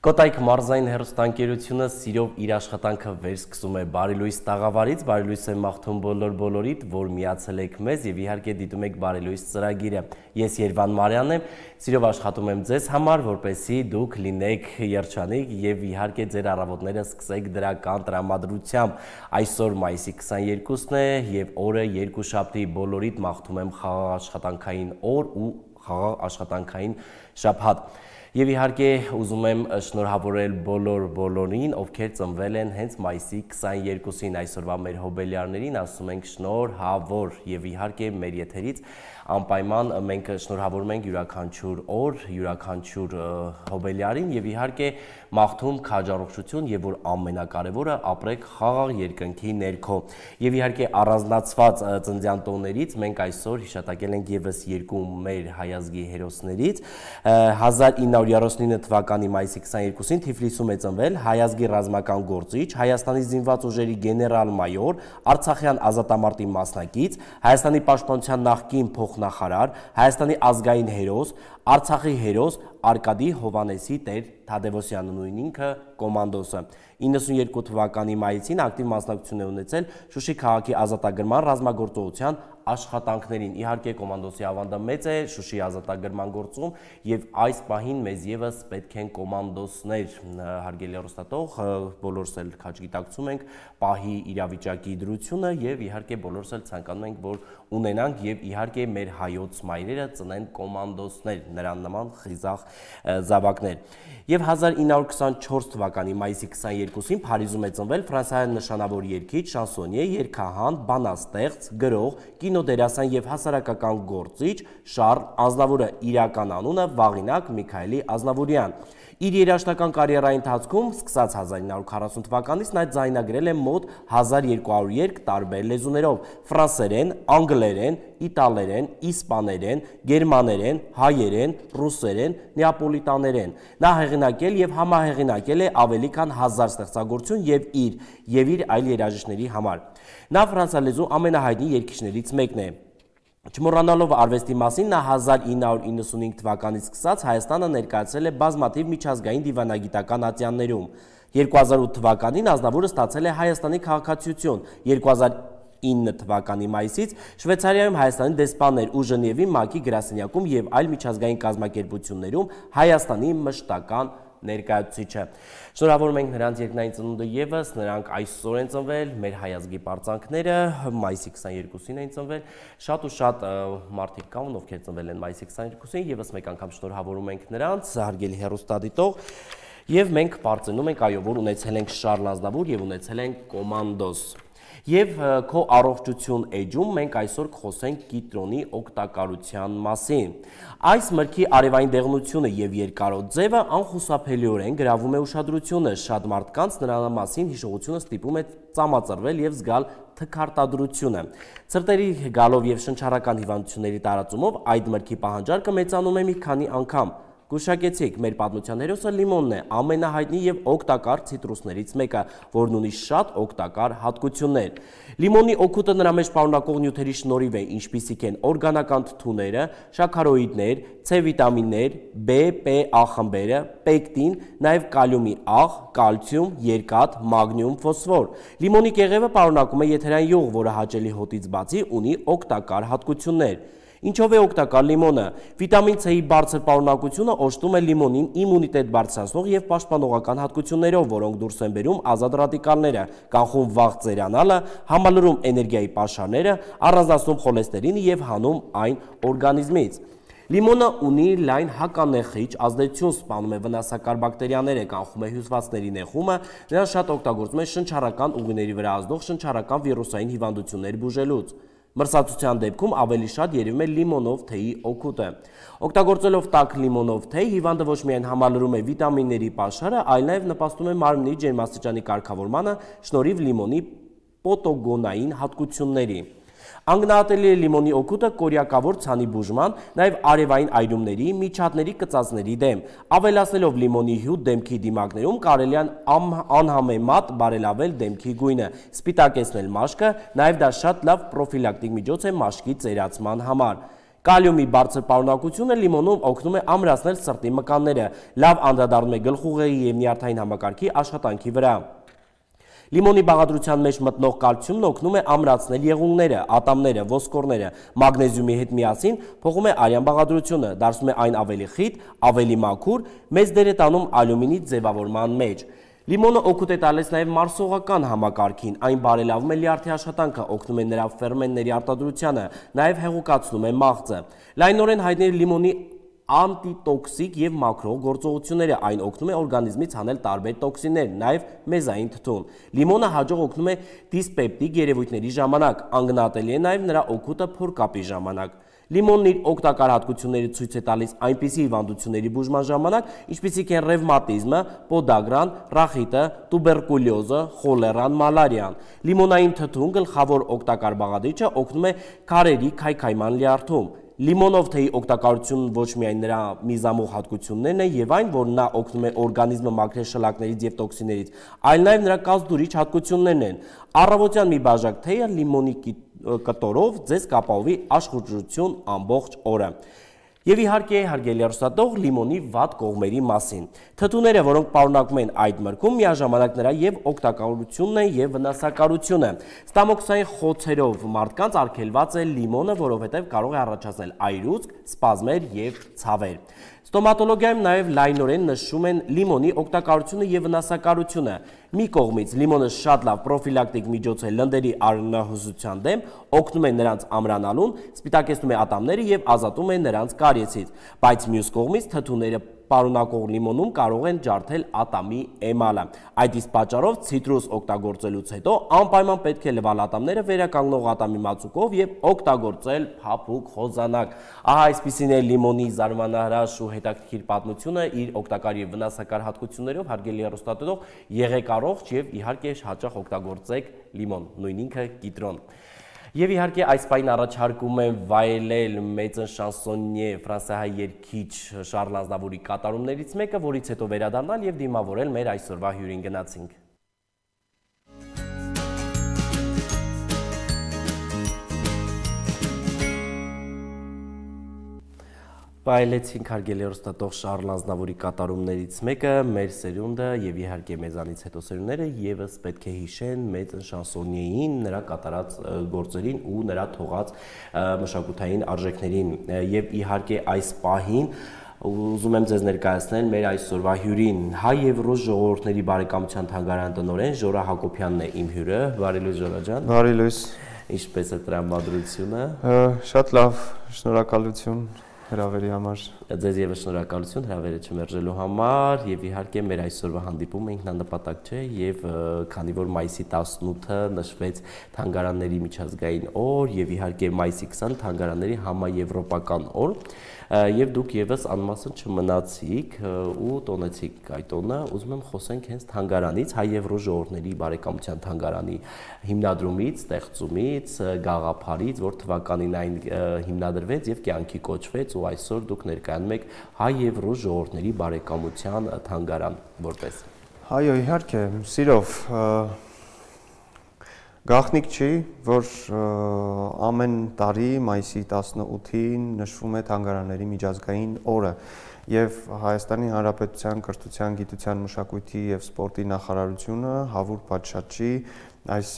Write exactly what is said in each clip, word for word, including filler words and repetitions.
Կոտայք մարզային հեռուստաընկերությունը սիրով իր աշխատանքը վերսկսում է Բարի լույս տաղավարից, Բարի լույս է մաղթում բոլոր բոլորիդ, որ միացել եք մեզ եւ իհարկե դիտում եք Բարի լույս ծրագիրը։ Ես Երվան Մարյանն եմ, սիրով աշխատում եմ ձեզ համար, որպեսզի դուք լինեք երջանիկ եւ իհարկե ձեր առավոտները սկսեք դրական տրամադրությամբ։ Այսօր մայիսի քսաներկուսն է եւ օրը երկուշաբթի, բոլորիդ մաղթում եմ խաղաղ աշխատանքային օր ու խաղաղ աշխատանքային շաբաթ։ Եվ իհարկե ուզում եմ շնորհավորել բոլոր բոլորին, ովքեր ծնվել են հենց մայիսի քսաներկուսին, այսօրվա մեր հոբելյարներին ասում ենք շնորհավոր եւ իհարկե մեր եթերից անպայման մենք շնորհավորում ենք յուրաքանչյուր օր, յուրաքանչյուր հոբելյարին եւ իհարկե մաղթում քաջառողջություն եւ որ ամենակարևորը ապրեք խաղաղ երկնքի ներքո։ Եվ իհարկե առանձնացված ծննդյան տոներից մենք այսօր հիշատակել ենք եւս երկու մեր հայազգի հերոսներից հազար ինը հարյուր երեսունինը թվականի մայիսի քսաներկուսին Թիֆլիսում է ծնվել հայազգի ռազմական գործիչ, Հայաստանի զինված ուժերի գեներալ-մայոր, Արցախյան ազատամարտի մասնակից, Հայաստանի պաշտպանության նախկին փոխնախարար, Հայաստանի ազգային հերոս, Արցախի հերոս Արկադի Հովանեսի Տեր Թադևոսյանը, նույն ինքը կոմանդոսը։ իննսունյոթ թվականի մայիսին ակտիվ մասնակցություն է ունեցել Շուշի քաղաքի ազատագրման ռազմագործողության աշխատանքներին։ Իհարկե կոմանդոսի ավանդը մեծ է Շուշի ազատագրման գործում եւ այս պահին մեզ եւս պետք են կոմանդոսներ, հարգելի հեռուստատող, բոլորս էլ քաջ գիտակցում ենք պահի իրավիճակի դրությունը եւ իհարկե բոլորս էլ ցանկանում ենք, որ ունենանք եւ իհարկե մեր հայոց մայրերը ծնեն կոմանդոսներ, նրան նման խիզախ զավակներ։ Եվ հազար ինը հարյուր քսանչորս թվականի մայիսի քսաներկուսին Փարիզում է ծնվել ֆրանսիական նշանավոր երգիչ, շանսոնիե, երգահան, բանաստեղծ, գրող, կինոդերասան եւ հասարակական գործիչ Շառլ Ազնավուրը, իրական անունը Վաղինակ Միքայելի Ազնավուրյան։ Իր երաժշտական կարիերայի ընթացքում սկսած հազար ինը հարյուր քառասուն թվականից նա ձայնագրել է մոտ հազար երկու հարյուր երգ տարբեր լեզուներով՝ ֆրանսերեն, անգլերեն, իտալերեն, իսպաներեն, գերմաներեն, հայերեն, ռուսերեն, նեապոլիտաներեն։ Նա հեղինակել եւ համահեղինակել է ավելի քան հազար ստեղծագործություն եւ իր եւ իր այլ երաժիշտների համար։ Նա ֆրանսալեզու ամենահայտնի երգիչներից մեկն է։ Չմոռանալով արվեստի մասին, նա հազար ինը հարյուր իննսունհինգ թվականից սկսած Հայաստանը ներկայացրել է բազմաթիվ միջազգային դիվանագիտական ատյաններում։ երկու հազար ութ թվականին Ազնավուրը ստացել է Հայաստանի քաղաքացիություն, երկու հազար ինը թվականի մայիսից Շվեյցարիայում Հայաստանի դեսպաներ ու Ժնևի ՄԱԿ-ի գրասենյակում եւ այլ միջազգային կազմակերպություններում Հայաստանի մշտական ներկայացուցիչը։ Շնորհավորում ենք նրանց երկնային ծնունդը եւս, նրանք այսօր են ծնվել, մեր հայազգի պարծանքները մայիսի քսաներկուսին են ծնվել, շատ ու շատ մարդիկ կան, ովքեր ծնվել են մայիսի քսաներկուսին, եւս մեկ անգամ շնորհավորում ենք նրանց, հարգելի հեռուստադիտող, եւ մենք պարծենում ենք, այո, որ ունեցել ենք Շառլ Ազնավուր եւ ունեցել ենք կոմանդոս։ Եվ քո առողջություն էջում մենք այսօր կխոսենք կիտրոնի օգտակարության մասին։ Այս մրգի արևային դեղնությունը եւ երկարոտ ձևը անխուսափելիորեն գրավում է ուշադրությունը, շատ մարդկանց նրա մասին հիշողությունը ստիպում է ծամածրվել եւ զգալ թքարտադրությունը։ Ցրտերի գալով եւ շնչառական հիվանդությունների տարածումով այդ մրգի պահանջարկը մեծանում է մի քանի անգամ։ Գուշակեցիք, մեր պատմության հերոսը լիմոնն է, ամենահայտնի եւ օգտակար ցիտրուսներից մեկը, որն ունի շատ օգտակար հատկություններ։ Լիմոնի օգուտը նրա մեջ պարունակող նյութերի շնորհիվ է, ինչպիսիք են օրգանական թթուները, շաքարոիդներ, C վիտամիններ, B, P, A խմբերը, պեկտին, նաեւ կալիումի աղ, կալցիում, երկաթ, մագնիում, ֆոսֆոր։ Լիմոնի կեղևը պարունակում է եթերային յուղ, որը հաճելի հոտից բացի ունի օգտակար հատկություններ։ Ինչով է օգտակար լիմոնը։ Վիտամին C-ի բարձր պարունակությունը օժտում է լիմոնին իմունիտետ բարձրացնող եւ պաշտպանողական հատկություններով, որոնք դուրս են բերում ազատ ռադիկալները, կանխում վաղ ծերանալը, համալրում էներգիայի պաշարները, առանձնացնում խոլեստերինը եւ հանում այն օրգանիզմից։ Լիմոնը ունի լայն հականեխիչ ազդեցություն, սպանում է վնասակար բակտերիաները, կանխում է հյուսվածքների նեխումը, նրան շատ օգտագործում է շնչառական ուղիների վրա ազդող շնչառական վիրուսային հիվանդություններ բուժելուց։ Մրսածության դեպքում ավելի շատ երևում է լիմոնով թեյի օգուտը։ Օգտագործելով տաք լիմոնով թեյ, հիվանդը ոչ միայն համալրում է վիտամինների պաշարը, այլ նաև նպաստում է մարմնի ջերմաստիճանի կարգավորմանը շնորհիվ լիմոնի պոտոգոնային հատկությունների։ Անգնահատելի է լիմոնի օգուտը կորյակավոր ցանի բուժման, նաև արևային այրումների, միջատների կծածների դեմ։ Ավելացնելով լիմոնի հյութ դեմքի դիմակներում կարելի է անհամեմատ բարելավել դեմքի գույնը, սպիտակեցնել մաշկը, նաև դա շատ լավ պրոֆիլակտիկ միջոց է մաշկի ծերացման համար։ Կալիումի բարձր պարունակությունը լիմոնում օգնում է ամրացնել սրտի մկանները, լավ անդրադառնում է գլխուղեղի և նյարդային համակարգի աշխատանքի վրա։ Լիմոնի բաղադրության մեջ մտնող կալցիումն օգնում է ամրացնել եղունգները, ատամները, ոսկորները, մագնեզիումի հետ միասին փոխում է արյան բաղադրությունը, դարձնում է այն ավելի խիտ, ավելի մաքուր, մեծ դեր է տանում ալյումինի ձևավորման մեջ։ Լիմոնը օգուտ է տալիս նաև մարսողական համակարգին, այն բարելավում է լյարդի աշխատանքը, օգնում է նրա ֆերմենտների արտադրությանը, նաև հեղուկացնում է մաղձը։ Լայնորեն հայտնի է լիմոնի անտիտոքսիկ և մաքրող գործողությունները, այն օգնում է օրգանիզմից հանել տարբեր տոքսիններ, նաև մեզային թթուն։ Լիմոնը հաջող օգնում է դիսպեպտիկ երևույթների ժամանակ, անգնահատելի է նաև նրա օգուտը փորկապի ժամանակ։ Լիմոնն իր օգտակար հատկությունները ցույց է տալիս այնպիսի հիվանդությունների բուժման ժամանակ, ինչպիսիք են ռևմատիզմը, պոդագրան, ռախիտը, տուբերկուլյոզը, խոլերան, մալարիան։ Լիմոնային թթուն գլխավոր օգտակար բաղադրիչը օգնում է քարերի քայքայման լյարդում։ Լիմոնով թեյի օգտակարությունն ոչ միայն նրա միզամուղ հատկություններն է և այն, որ նա օգնում է օրգանիզմը մաքրել շլակներից և տոքսիններից, այլ նաև նրա կազդուրիչ հատկություններն են։ Առավոտյան մի բաժակ թեյը լիմոնի կտորով ձեզ կապահովի աշխուժություն ամբողջ օրը։ Եվ իհարկե, հարգելի հեռուստադիտող, լիմոնի վատ կողմերի մասին։ Թթուները, որոնք պարունակվում են այդ մրգում, միաժամանակ նրա և օգտակարությունն են և վնասակարությունը։ Ստամոքսային խոցերով մարդկանց արգելված է լիմոնը, որովհետև կարող է առաջացնել այրուծք, սպազմեր և ցավեր։ Ստոմատոլոգիայում նաև լայնորեն նշում են լիմոնի օգտակարությունը և վնասակարությունը։ Մի կողմից լիմոնը շատ լավ պրոֆիլակտիկ միջոց է լնդերի արյունահոսության դեմ, օգնում է նրանց ամրանալուն, սպիտակեցնում է ատամները և ազատում է նրանց կարիեսից, բայց մյուս կողմից թթուները պարունակող լիմոնում կարող են ջարդել ատամի էմալը։ Այդ իսկ պատճառով ցիտրուս օգտագործելուց հետո անպայման պետք է լվալ ատամները վերականգնող ատամի մածուկով և օգտագործել փափուկ խոզանակ։ Ահա այսպիսին է լիմոնի զարմանահրաշ ու հետաքրքիր պատմությունը իր օգտակար և վնասակար հատկություններով, հարգելի հեռուստադիտող, եղեք առողջ և իհարկե հաճախ օգտագործեք լիմոն, նույն ինքը կիտրոն։ Եվ իհարկե այս պահին առաջարկում եմ վայելել մեծն շանսոնյե ֆրանսիահայ երգիչ Շարլ Ազնավուրի կատարումներից մեկը, որից հետո վերադառնալ և դիմավորել մեր այսօրվա հյուրին։ Գնացինք։ Վայելեցինք հարգելի հեռուստադիտող Շարլ Ազնավուրի կատարումներից մեկը, մեր սերունդը և իհարկե մեզանից հետո սերունդները ևս պետք է հիշեն մեծն շանսոնյեին, նրա կատարած գործերին ու նրա թողած մշակութային արժեքներին։ Եվ իհարկե այս պահին ուզում եմ ձեզ ներկայացնել մեր այսօրվա հյուրին, հայ և ռուս ժողովուրդների բարեկամության թանգարան տնօրեն Ժորա Հակոբյանն է իմ հյուրը։ Բարի լույս, Ժորա ջան։ Բարի լույս։ Ինչպես է տրամադրությունը։ Շատ լավ, շնորհակալություն հրավերի համար։ Ձեզ ևս շնորհակալություն հրավերը չմերժելու համար եւ իհարկե մեր այսօրվա հանդիպումը ինքնանպատակ չէ եւ քանի որ մայիսի տասնութը նշվեց թանգարանների միջազգային օր եւ իհարկե մայիսի քսանը թանգարանների համաեվրոպական օր եւ դուք ևս անմասն չմնացիք ու տոնեցիք այդ տոնը, ուզում եմ խոսենք հենց թանգարանից, հայ եւ ռուս ժողովուրդների բարեկամության թանգարանի հիմնադրումից, ստեղծումից, գաղափարից, որ թվականին այն հիմնադրվեց եւ կյանքի կոչվեց ու այսօր դուք ներկայանում եք հայ եւ ռուս ժողովուրդների բարեկամության թանգարան որպես։ Այո, իհարկե, սիրով գաղտնիք չի, որ ամեն տարի մայիսի տասնութին նշվում է թանգարանների միջազգային օրը եւ Հայաստանի Հանրապետության կրթության, գիտության, մշակույթի եւ սպորտի նախարարությունը հավուր պատշաճի այս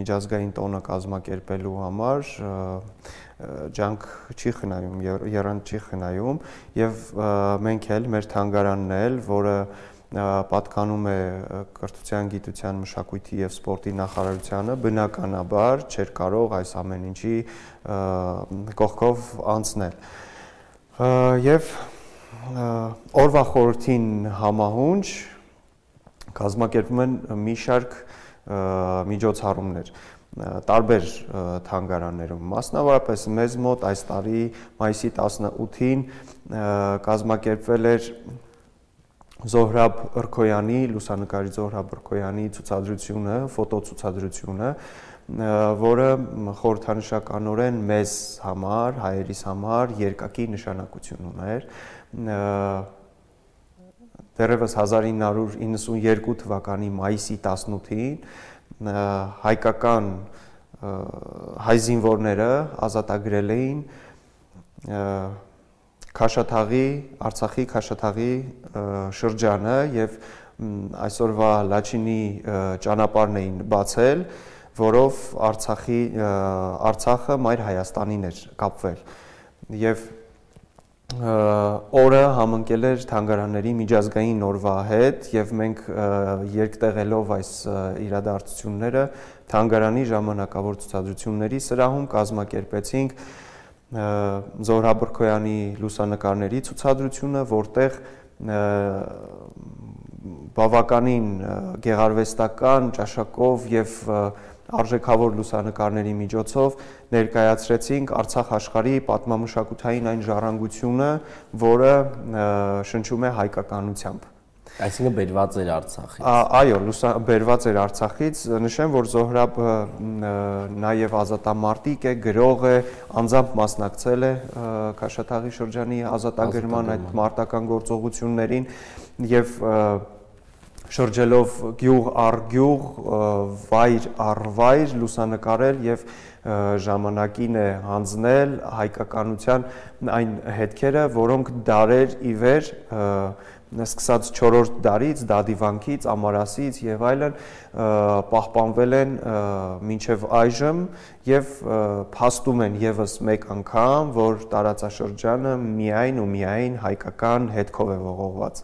միջազգային տոնը կազմակերպելու համար ջանք չի խնայում, եռանդ չի խնայում եւ մենք էլ մեր թանգարանն էլ, որը պատկանում է կրթության, գիտության, մշակույթի եւ սպորտի նախարարությանը, բնականաբար չէր կարող այս ամեն ինչի կողքով անցնել։ Եվ օրվա խորհրդին համահունչ կազմակերպում են մի շարք միջոցառումներ տարբեր թանգարաններում, մասնավորապես մեզ մոտ այս տարի մայիսի տասնութին կազմակերպվել էր Զոհրաբ Ըրքոյանի, լուսանկարիչ Զոհրաբ Ըրքոյանի ցուցադրությունը, ֆոտոցուցադրությունը, որը խորհրդանշականորեն մեզ համար, հայերիս համար երկակի նշանակություն ուներ։ Դեռևս հազար ինը հարյուր իննսունյերկու թվականի մայիսի տասնութին հայկական հայ զինվորները ազատագրել էին Քաշաթաղի, Արցախի Քաշաթաղի շրջանը եւ այսօրվա Լաչինի ճանապարհն էին բացել, որով Արցախի Արցախը Մայր Հայաստանին էր կապվել եւ օրը համընկել էր թանգարանների միջազգային օրվա հետ եւ մենք երկտեղելով այս իրադարձությունները թանգարանի ժամանակավոր ցուցադրությունների սրահում կազմակերպեցինք Զոհր Աբրքոյանի լուսանկարների ցուցադրությունը, որտեղ բավականին գեղարվեստական ճաշակով եւ արժեքավոր լուսանկարների միջոցով ներկայացրեցինք Արցախ աշխարհի պատմամշակութային այն ժառանգությունը, որը շնչում է հայկականությամբ։ Այսինքն բերված էր Արցախից։ Այո, բերված էր Արցախից, նշեմ, որ Զոհրաբը նաև ազատամարտիկ է, գրող է, անձամբ մասնակցել է Քաշաթաղի շրջանի ազատագրման այդ մարտական գործողություններին եւ շրջելով գյուղ առ գյուղ, վայր առ վայր լուսանկարել եւ ժամանակին է հանձնել հայկականության այն հետքերը, որոնք դարեր ի վեր սկսած չորրորդ դարից, Դադիվանքից, Ամարասից եւ այլն պահպանվել են մինչեւ այժմ եւ փաստում են եւս մեկ անգամ, որ տարածաշրջանը միայն ու միայն հայկական հետքով է ողողված։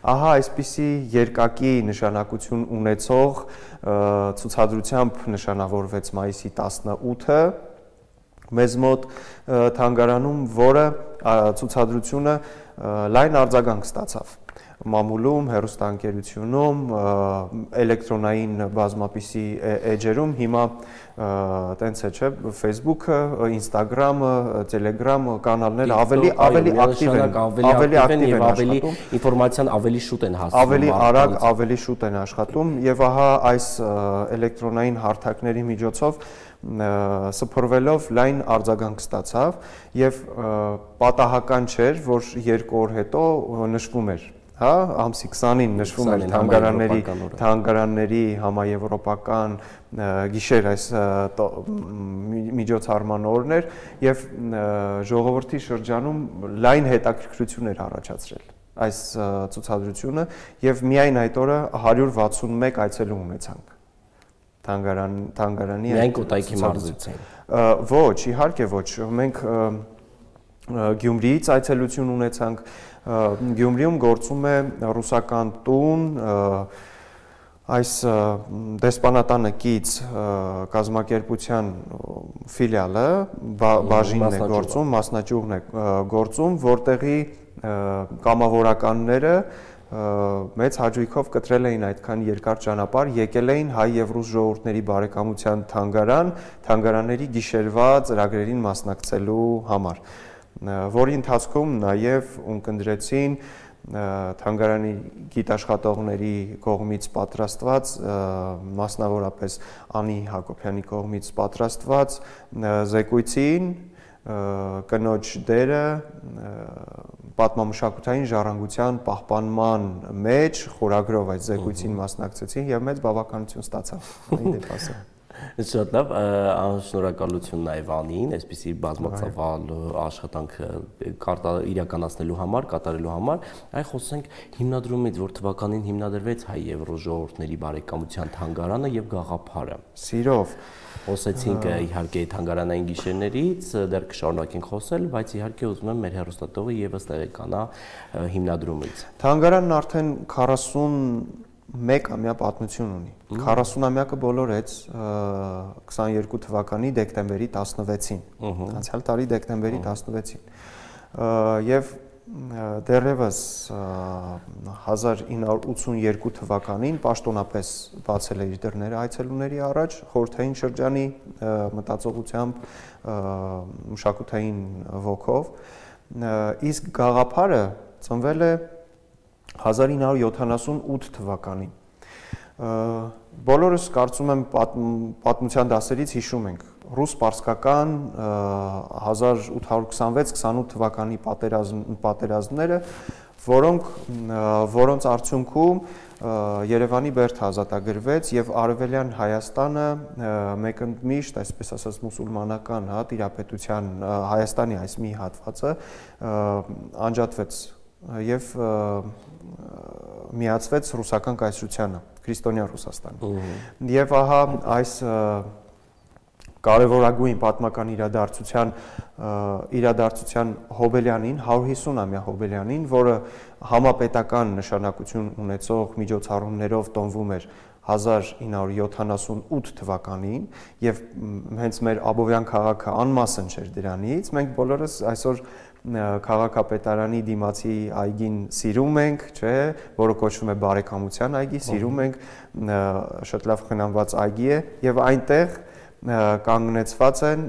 Ահա այսպիսի երկակի նշանակություն ունեցող ցուցադրությամբ նշանավորվեց մայիսի տասնութը մեզ մոտ թանգարանում, որը ցուցադրությունը լայն արձագանք ստացավ մամուլում, հեռուստաընկերությունում, էլեկտրոնային բազմապիսի էջերում, հիմա տենց է, չէ, Facebook-ը, Instagram-ը, Telegram-ը կանալները ավելի ավելի ակտիվ են, ավելի ակտիվ են ավելի ինֆորմացիան ավելի շուտ են հասնում, ավելի արագ, ավելի շուտ են աշխատում եւ ահա այս էլեկտրոնային հարթակների միջոցով սփռվելով լայն արձագանք ստացավ եւ պատահական չէր, որ երկու օր հետո նշվում էր, հա, ամսի քսանին նշվում էր թանգարանների թանգարանների համաեվրոպական գիշեր այս միջոցառման օրներ եւ ժողովրդի շրջանում լայն հետաքրքրություն էր առաջացրել այս ցուցադրությունը եւ միայն այդ օրը հարյուր վաթսունմեկ այցելու ունեցանք թանգարան թանգարանի միայն Կոտայքի մարզից ոչ, իհարկե ոչ, մենք Գյումրիից այցելություն ունեցանք, Գյումրիում գործում է ռուսական տուն, այս դեսպանատանը կից կազմակերպության ֆիլիալը բաժինն է գործում, մասնաճյուղն է գործում, որտեղի կամավորականները մեծ հաճույքով կտրել էին այդքան երկար ճանապարհ, եկել էին հայ եւ ռուս ժողովուրդների բարեկամության թանգարան, թանգարանների գիշերվա ծրագրերին մասնակցելու համար, որի ընթացքում նաեւ ունկնդրեցին թանգարանի գիտաշխատողների կողմից պատրաստված, մասնավորապես Անի Հակոբյանի կողմից պատրաստված զեկույցին կնոջ դերը պատմամշակութային ժառանգության պահպանման մեջ խորագրով այս զեկույցին մասնակցեցին եւ մեծ բավականություն ստացավ այն դեպասը։ Շատ լավ, շնորհակալություն նաև Անին, այսպիսի բազմացավալ աշխատանք իրականացնելու համար, կատարելու համար, այ խոսենք հիմնադրումից, որ թվականին հիմնադրվեց հայ եւ ռուս ժողովուրդների բարեկամության թանգարանը եւ գաղափարը։ Սիրով Խոսեցինք իհարկե թանգարանային գիշերներից, դեռ կշարունակենք խոսել, բայց իհարկե ուզում եմ մեր հեռուստատողը եւս տեղեկանա հիմնադրումից։ Թանգարանն արդեն քառասունմեկ ամյա պատմություն ունի։ քառասունամյակը բոլորեց քսաներկու թվականի դեկտեմբերի տասնվեցին, անցյալ տարի դեկտեմբերի տասնվեցին։ Եվ դեռևս հազար ինը հարյուր ութսունյերկու թվականին պաշտոնապես բացել է իր դռները այցելուների առաջ խորհրդային շրջանի մտածողությամբ, մշակութային ոգով, իսկ գաղափարը ծնվել է հազար ինը հարյուր յոթանասունութ թվականին։ Բոլորս կարծում եմ պատմության դասերից հիշում ենք ռուս-պարսկական հազար ութ հարյուր քսանվեց քսանութ թվականի պատերազմները, որոնք որոնց արդյունքում Երևանի բերդը ազատագրվեց եւ Արևելյան Հայաստանը մեկընդմիշտ, այսպես ասած, մուսուլմանական, հա, տիրապետության Հայաստանի այս մի հատվածը անջատվեց եւ միացվեց ռուսական կայսրությանը, քրիստոնյա Ռուսաստանին։ Եվ ահա այս կարևորագույն պատմական իրադարձության իրադարձության հոբելյանին, հարյուր հիսուն-ամյա հոբելյանին, որը համապետական նշանակություն ունեցող միջոցառումներով տոնվում էր հազար ինը հարյուր յոթանասունութ թվականին եւ հենց մեր Աբովյան քաղաքը անմասն չէր դրանից, մենք բոլորս այսօր քաղաքապետարանի դիմացի այգին սիրում ենք, չէ, որը կոչվում է բարեկամության այգի, սիրում ենք, շատ լավ խնամված այգի է եւ այնտեղ կանգնեցված են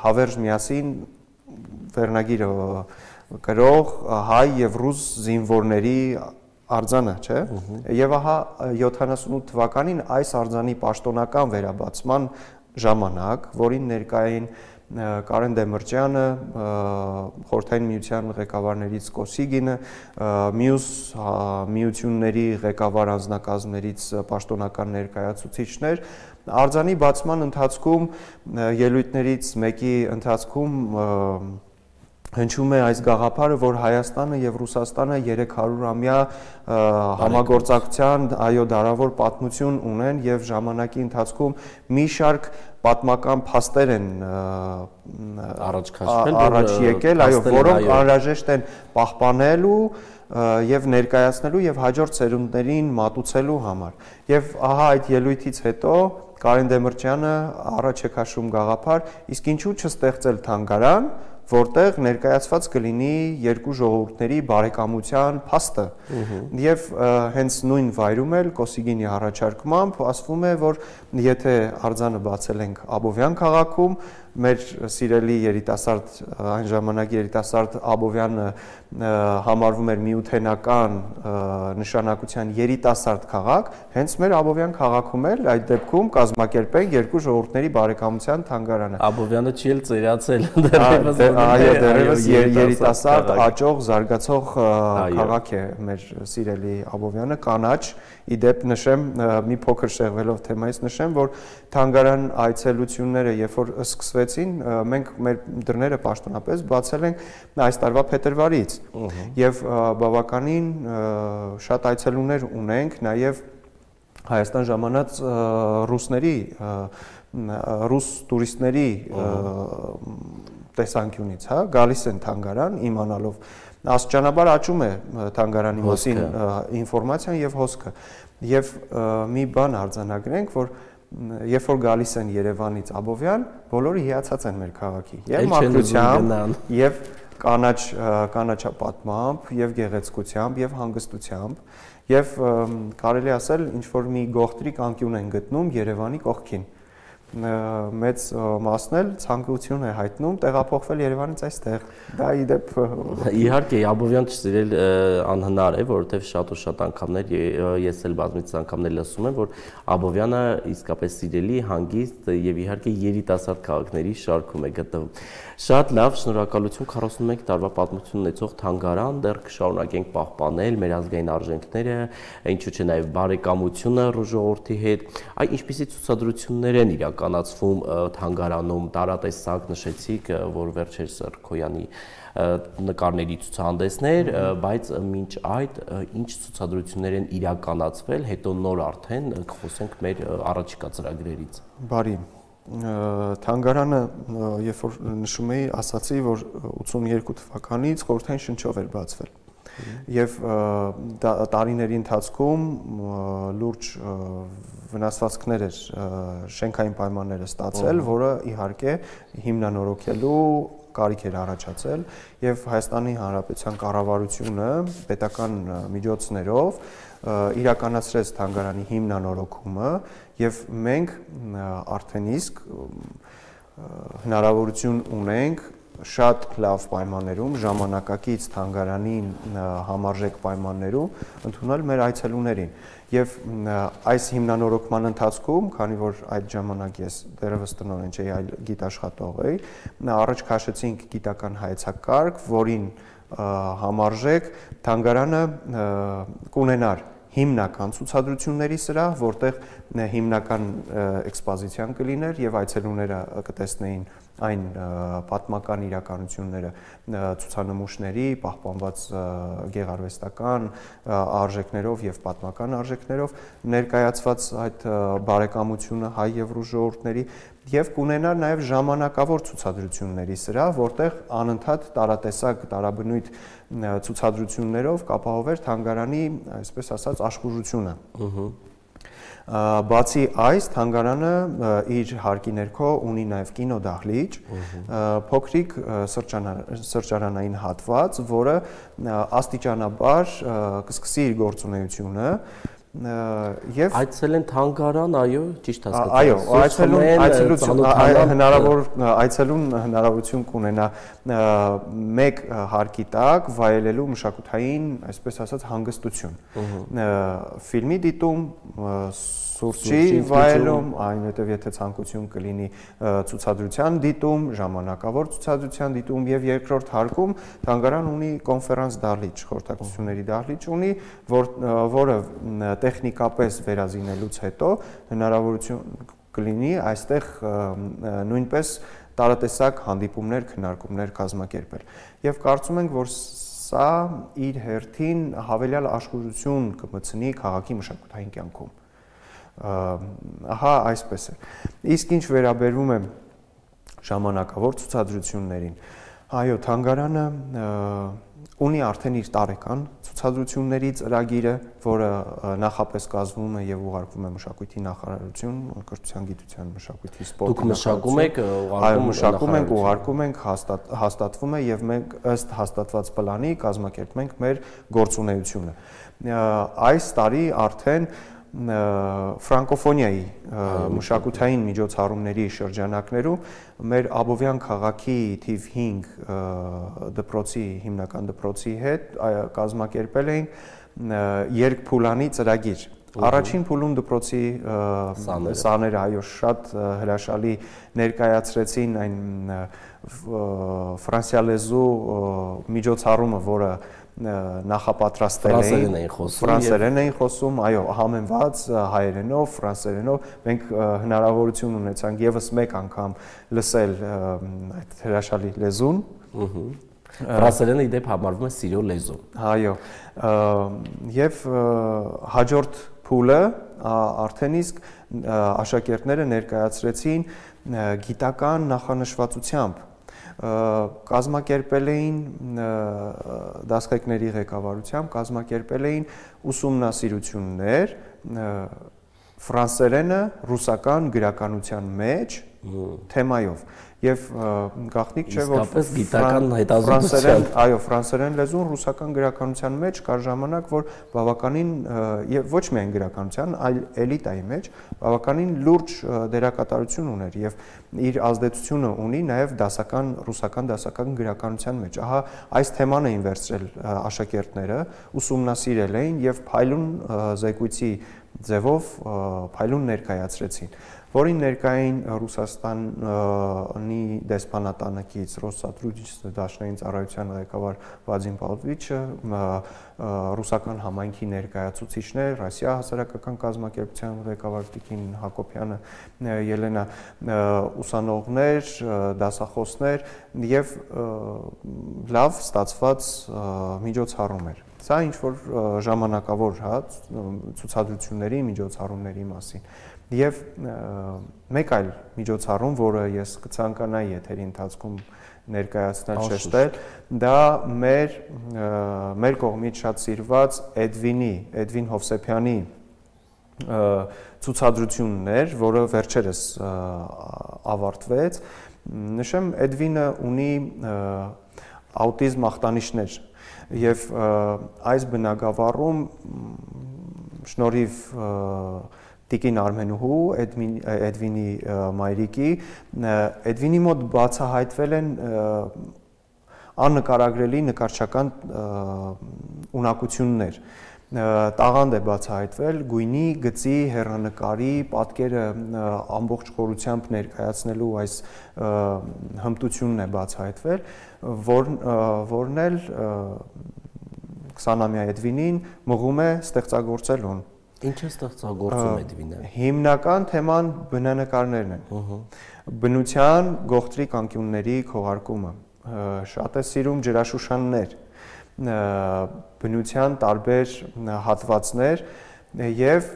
հավերժ միասին վերնագիրը կրող հայ եւ ռուս զինվորների արձանը, չէ՞։ Եվ ահա յոթանասունութ թվականին այս արձանի պաշտոնական վերաբացման ժամանակ, որին ներկա էին Կարեն Դեմիրճյանը, Խորհրդային միության ղեկավարներից Կոսիգինը, մյուս միությունների ղեկավար անձնակազմներից պաշտոնական ներկայացուցիչներ, արձանի բացման ընթացքում ելույթներից մեկի ընթացքում հնչում է այս գաղափարը, որ Հայաստանը եւ Ռուսաստանը երեք հարյուր-ամյա համագործակցության այո դարավոր պատմություն ունեն եւ ժամանակի ընթացքում մի շարք պատմական փաստեր են առաջ քաշվել, առաջ եկել, այո, որոնք անհրաժեշտ են պահպանելու եւ ներկայացնելու եւ հաջորդ սերունդներին մատուցելու համար։ Եվ ահա այդ ելույթից հետո Կարեն Դեմիրճյանը առաջ է քաշում գաղափար, իսկ ինչու չստեղծել թանգարան, որտեղ ներկայացված կլինի երկու ժողովուրդների բարեկամության փաստը։ Եվ հենց նույն վայրում էլ Կոսիգինի առաջարկմամբ ասվում է, որ եթե արձանը բացել ենք Աբովյան քաղաքում, մեր սիրելի երիտասարդ այն ժամանակ երիտասարդ Աբովյանը համարվում էր միութենական նշանակության երիտասարդ քաղաք, հենց մեր Աբովյան քաղաքում էլ այդ դեպքում կազմակերպենք երկու ժողովուրդների բարեկամության թանգարանը։ Աբովյանը չի էլ ծերացել, դեռևս այո, դեռևս երիտասարդ, աճող, զարգացող քաղաք է մեր սիրելի Աբովյանը, կանաչ, իդեպ նշեմ, մի փոքր շեղվելով թեմայից նշեմ, որ թանգարան այցելությունները, երբ որ սկսվեցին, մենք մեր դռները պաշտոնապես բացել ենք այս տարվա փետրվարից եւ բավականին շատ այցելուներ ունենք, նաեւ Հայաստան ժամանած ռուսների, ռուս տուրիստների տեսանկյունից, հա, գալիս են թանգարան իմանալով աստիճանաբար աճում է թանգարանի մասին ինֆորմացիան եւ հոսքը եւ մի բան արձանագրենք, որ երբ որ գալիս են Երևանից Աբովյան, բոլորը հիացած են մեր քաղաքի եւ մաքրությամբ եւ կանաչ կանաչապատմամբ եւ գեղեցկությամբ եւ հանգստությամբ եւ կարելի ասել ինչ որ մի գողտրիկ անկյուն են գտնում Երևանի կողքին մեծ մասն էլ ցանկություն է հայտնում տեղափոխվել Երևանից այստեղ։ Դա իդեպ իհարկե Աբովյան չսիրել անհնար է, որովհետև շատ ու շատ անգամներ ես էլ բազմիցս անգամներ լսում եմ, որ Աբովյանը իսկապես սիրելի, հանգիստ եւ իհարկե երիտասարդ քաղաքների շարքում է գտնվում։ Շատ լավ, շնորհակալություն քառասունմեկ տարվա պատմություն ունեցող թանգարան, դեռ կշարունակենք պահպանել մեր ազգային արժեքները, ինչու՞ չէ նաեւ բարեկամությունը ժողովրդի հետ։ Այ ինչպիսի ցուցադրություններ են իրականացվում թանգարանում, տարատեսակ նշեցիք, որ վերջերս Սրքոյանի նկարների ցուցահանդեսներ, բայց մինչ այդ ինչ ցուցադրություններ են իրականացվել, հետո նոր արդեն կխոսենք մեր առաջիկա ծրագրերից։ Բարի Թանգարանը, երբ որ նշում էի, ասացի, որ ութսունյերկու թվականից խորհրդային շնչով էր բացվել։ Եվ տարիների ընթացքում լուրջ վնասվածքներ էր շենքային պայմանները ստացել, որը իհարկե հիմնանորոգելու կարիք էր առաջացել եւ Հայաստանի Հանրապետության կառավարությունը պետական միջոցներով իրականացրեց թանգարանի հիմնանորոգումը եւ մենք արդեն իսկ հնարավորություն ունենք շատ լավ պայմաններում ժամանակակից թանգարանին համարժեք պայմաններում ընդունել մեր այցելուներին եւ այս հիմնանորոգման ընթացքում, քանի որ այդ ժամանակ ես դեռևս տնօրեն չէի, այլ գիտաշխատող էի, առաջ քաշեցինք գիտական հայեցակարգ, որին համարժեք, թանգարանը կունենար հիմնական ցուցադրությունների սրահ, որտեղ հիմնական էքսպոզիցիան կլիներ եւ այցելուները կտեսնեին այն պատմական իրականությունները ցուցանմուշների, պահպանված գեղարվեստական արժեքներով եւ պատմական արժեքներով ներկայացված այդ բարեկամությունը հայ եւ ռուս ժողովուրդների եւ կունենար նաեւ ժամանակավոր ցուցադրությունների սրահ, որտեղ անընդհատ տարատեսակ տարաբնույթ ցուցադրություններով կապահովեր թանգարանի, այսպես ասած, աշխուժությունը։ Բացի այս, թանգարանը իր հարկի ներքո ունի նաև կինոդահլիճ, փոքրիկ սրճարանային հատված, որը աստիճանաբար կսկսի իր գործունեությունը եւ այցել են թանգարան, այո, ճիշտ հասկացա։ Այո, այցելուն այցելություն հնարավոր այցելուն հնարավորություն կունենա մեկ հարկի տակ վայելելու մշակութային, այսպես ասած, հանգստություն։ Ֆիլմի դիտում, սուրճի վայելում, այնուհետև եթե ցանկություն կլինի ցուցադրության դիտում, ժամանակավոր ցուցադրության դիտում եւ երկրորդ հարկում թանգարան ունի կոնֆերանս դահլիճ, խորհրդակցությունների դահլիճ ունի, որ որը տեխնիկապես վերազինելուց հետո հնարավորություն կլինի այստեղ նույնպես տարատեսակ հանդիպումներ, քննարկումներ կազմակերպել։ Եվ կարծում ենք, որ սա իր հերթին հավելյալ աշխուժություն կմտցնի քաղաքի մշակութային կյանքում։ Ահա այսպես է։ Իսկ ինչ վերաբերում է ժամանակավոր ցուցադրություններին, այո, թանգարանը ունի արդեն իր տարեկան ցուցադրությունների ծրագիրը, որը նախապես կազմվում է եւ ուղարկվում է մշակույթի նախարարություն, կրթության, գիտության, մշակույթի, սպորտի նախարարություն։ Այո, մշակում ենք, ուղարկում ենք, հաստատվում է եւ մենք ըստ հաստատված պլանի կազմակերպում ենք մեր գործունեությունը։ Այս տարի արդեն ֆրանկոֆոնիայի մշակութային միջոցառումների շրջանակներում մեր Աբովյան քաղաքի թիվ հինգ դպրոցի հիմնական դպրոցի հետ կազմակերպել էին երկփուլանի ծրագիր։ Առաջին փուլում դպրոցի սաները, այո, շատ հրաշալի ներկայացրեցին այն ֆրանսիալեզու միջոցառումը, որը նախապատրաստել էին, ֆրանսերեն էին խոսում, այո, համեմված հայերենով, ֆրանսերենով, մենք հնարավորություն ունեցանք եւս մեկ անգամ լսել այդ հրաշալի լեզուն։ Ֆրանսերենը իդեպ համարվում է սիրո լեզու։ Այո, եւ հաջորդ փուլը արդեն իսկ աշակերտները ներկայացրեցին գիտական նախանշվածությամբ կազմակերպել էին դասղեկների ղեկավարությամբ կազմակերպել էին ուսումնասիրություններ ֆրանսերենը ռուսական գրականության մեջ թեմայով եւ գաղտնիք չէ որ իսկապես գիտական հետազոտության, այո, ֆրանսերեն լեզուն ռուսական գրականության մեջ կար ժամանակ, որ բավականին եւ ոչ միայն գրականության, այլ էլիտայի մեջ բավականին լուրջ դերակատարություն ուներ եւ իր ազդեցությունը ունի նաեւ դասական ռուսական դասական գրականության մեջ։ Ահա այս թեման էին վերցրել աշակերտները, ուսումնասիրել էին եւ փայլուն զեկույցի ձևով փայլուն ներկայացրեցին, որին ներկային Ռուսաստանի դեսպանատանեկից Ռոսսատրուդիչստը դաշնային ծառայության ղեկավար Վադիմ Պավլովիչը, ռուսական համայնքի ներկայացուցիչներ, Ռոսիա հասարակական կազմակերպության ղեկավար Տիկին Հակոբյանը, Ելենա, ուսանողներ, դասախոսներ եւ լավ ստացված միջոցառում էր։ Սա ինչ որ ժամանակավոր, հա, ցուցադրությունների, միջոցառումների մասին։ Եվ մեկ այլ միջոցառում, որը ես կցանկանայի եթերի ընթացքում ներկայացնել շեշտել, դա մեր մեր կողմից շատ սիրված Էդվինի, Էդվին Հովսեփյանի ցուցադրությունն էր, որը վերջերս ավարտվեց։ Նշեմ, Էդվինը ունի աուտիզմ ախտանիշներ եւ այս բնագավառում շնորհիվ Տիկին Արմենուհու, Էդվինի մայրիկի, Էդվինի մոտ բացահայտվել են աննկարագրելի նկարչական ունակություններ տաղանդ է բացահայտվել գույնի, գծի, հեռանկարի պատկերը ամբողջ խորությամբ ներկայացնելու այս հմտությունն է բացահայտվել, որն էլ քսանամյա Էդվինին մղում է ստեղծագործելուն։ Ինչ է ստեղծագործում Էդվինը։ Հիմնական թեման բնանկարներն են։ Բնության գողտրիկ անկյունների քողարկումը, շատ է սիրում ջրաշուշաններ, բնության տարբեր հատվածներ եւ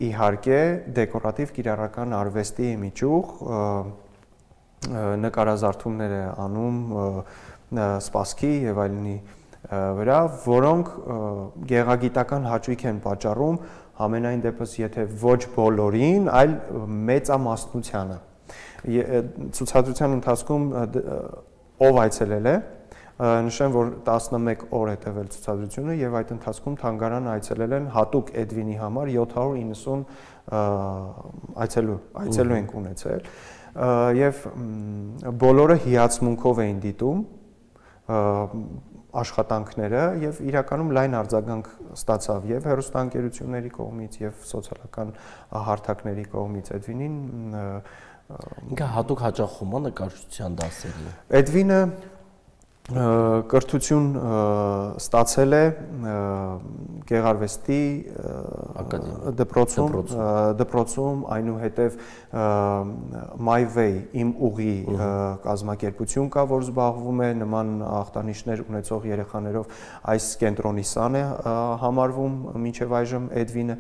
իհարկե դեկորատիվ կիրառական արվեստի միջուղ նկարազարդումներ է անում սպասքի եւ այլնի վրա, որոնք գեղագիտական հաճույք են պատճառում ամենայն դեպս եթե ոչ բոլորին, այլ մեծամասնությանը։ Ցուցադրության ընթացքում ով այցելել է, նշեմ, որ տասնմեկ օր է տևել ցուցադրությունը եւ այդ ընթացքում թանգարանը այցելել են հատուկ Էդվինի համար յոթ հարյուր իննսուն այցելու, այցելու ենք ունեցել եւ բոլորը հիացմունքով էին դիտում աշխատանքները եւ իրականում լայն արձագանք ստացավ եւ հեռուստաընկերությունների կողմից եւ սոցիալական հարթակների կողմից Էդվինին ինքը հատուկ հաճախում է նկարչության դասերի։ Էդվինը կրթություն ստացել է Գեղարվեստի դպրոցում, դպրոցում այնուհետև My Way իմ ուղի կազմակերպություն կա, որ զբաղվում է նման ախտանիշներ ունեցող երեխաներով, այս կենտրոնի սան է համարվում մինչև այժմ Էդվինը,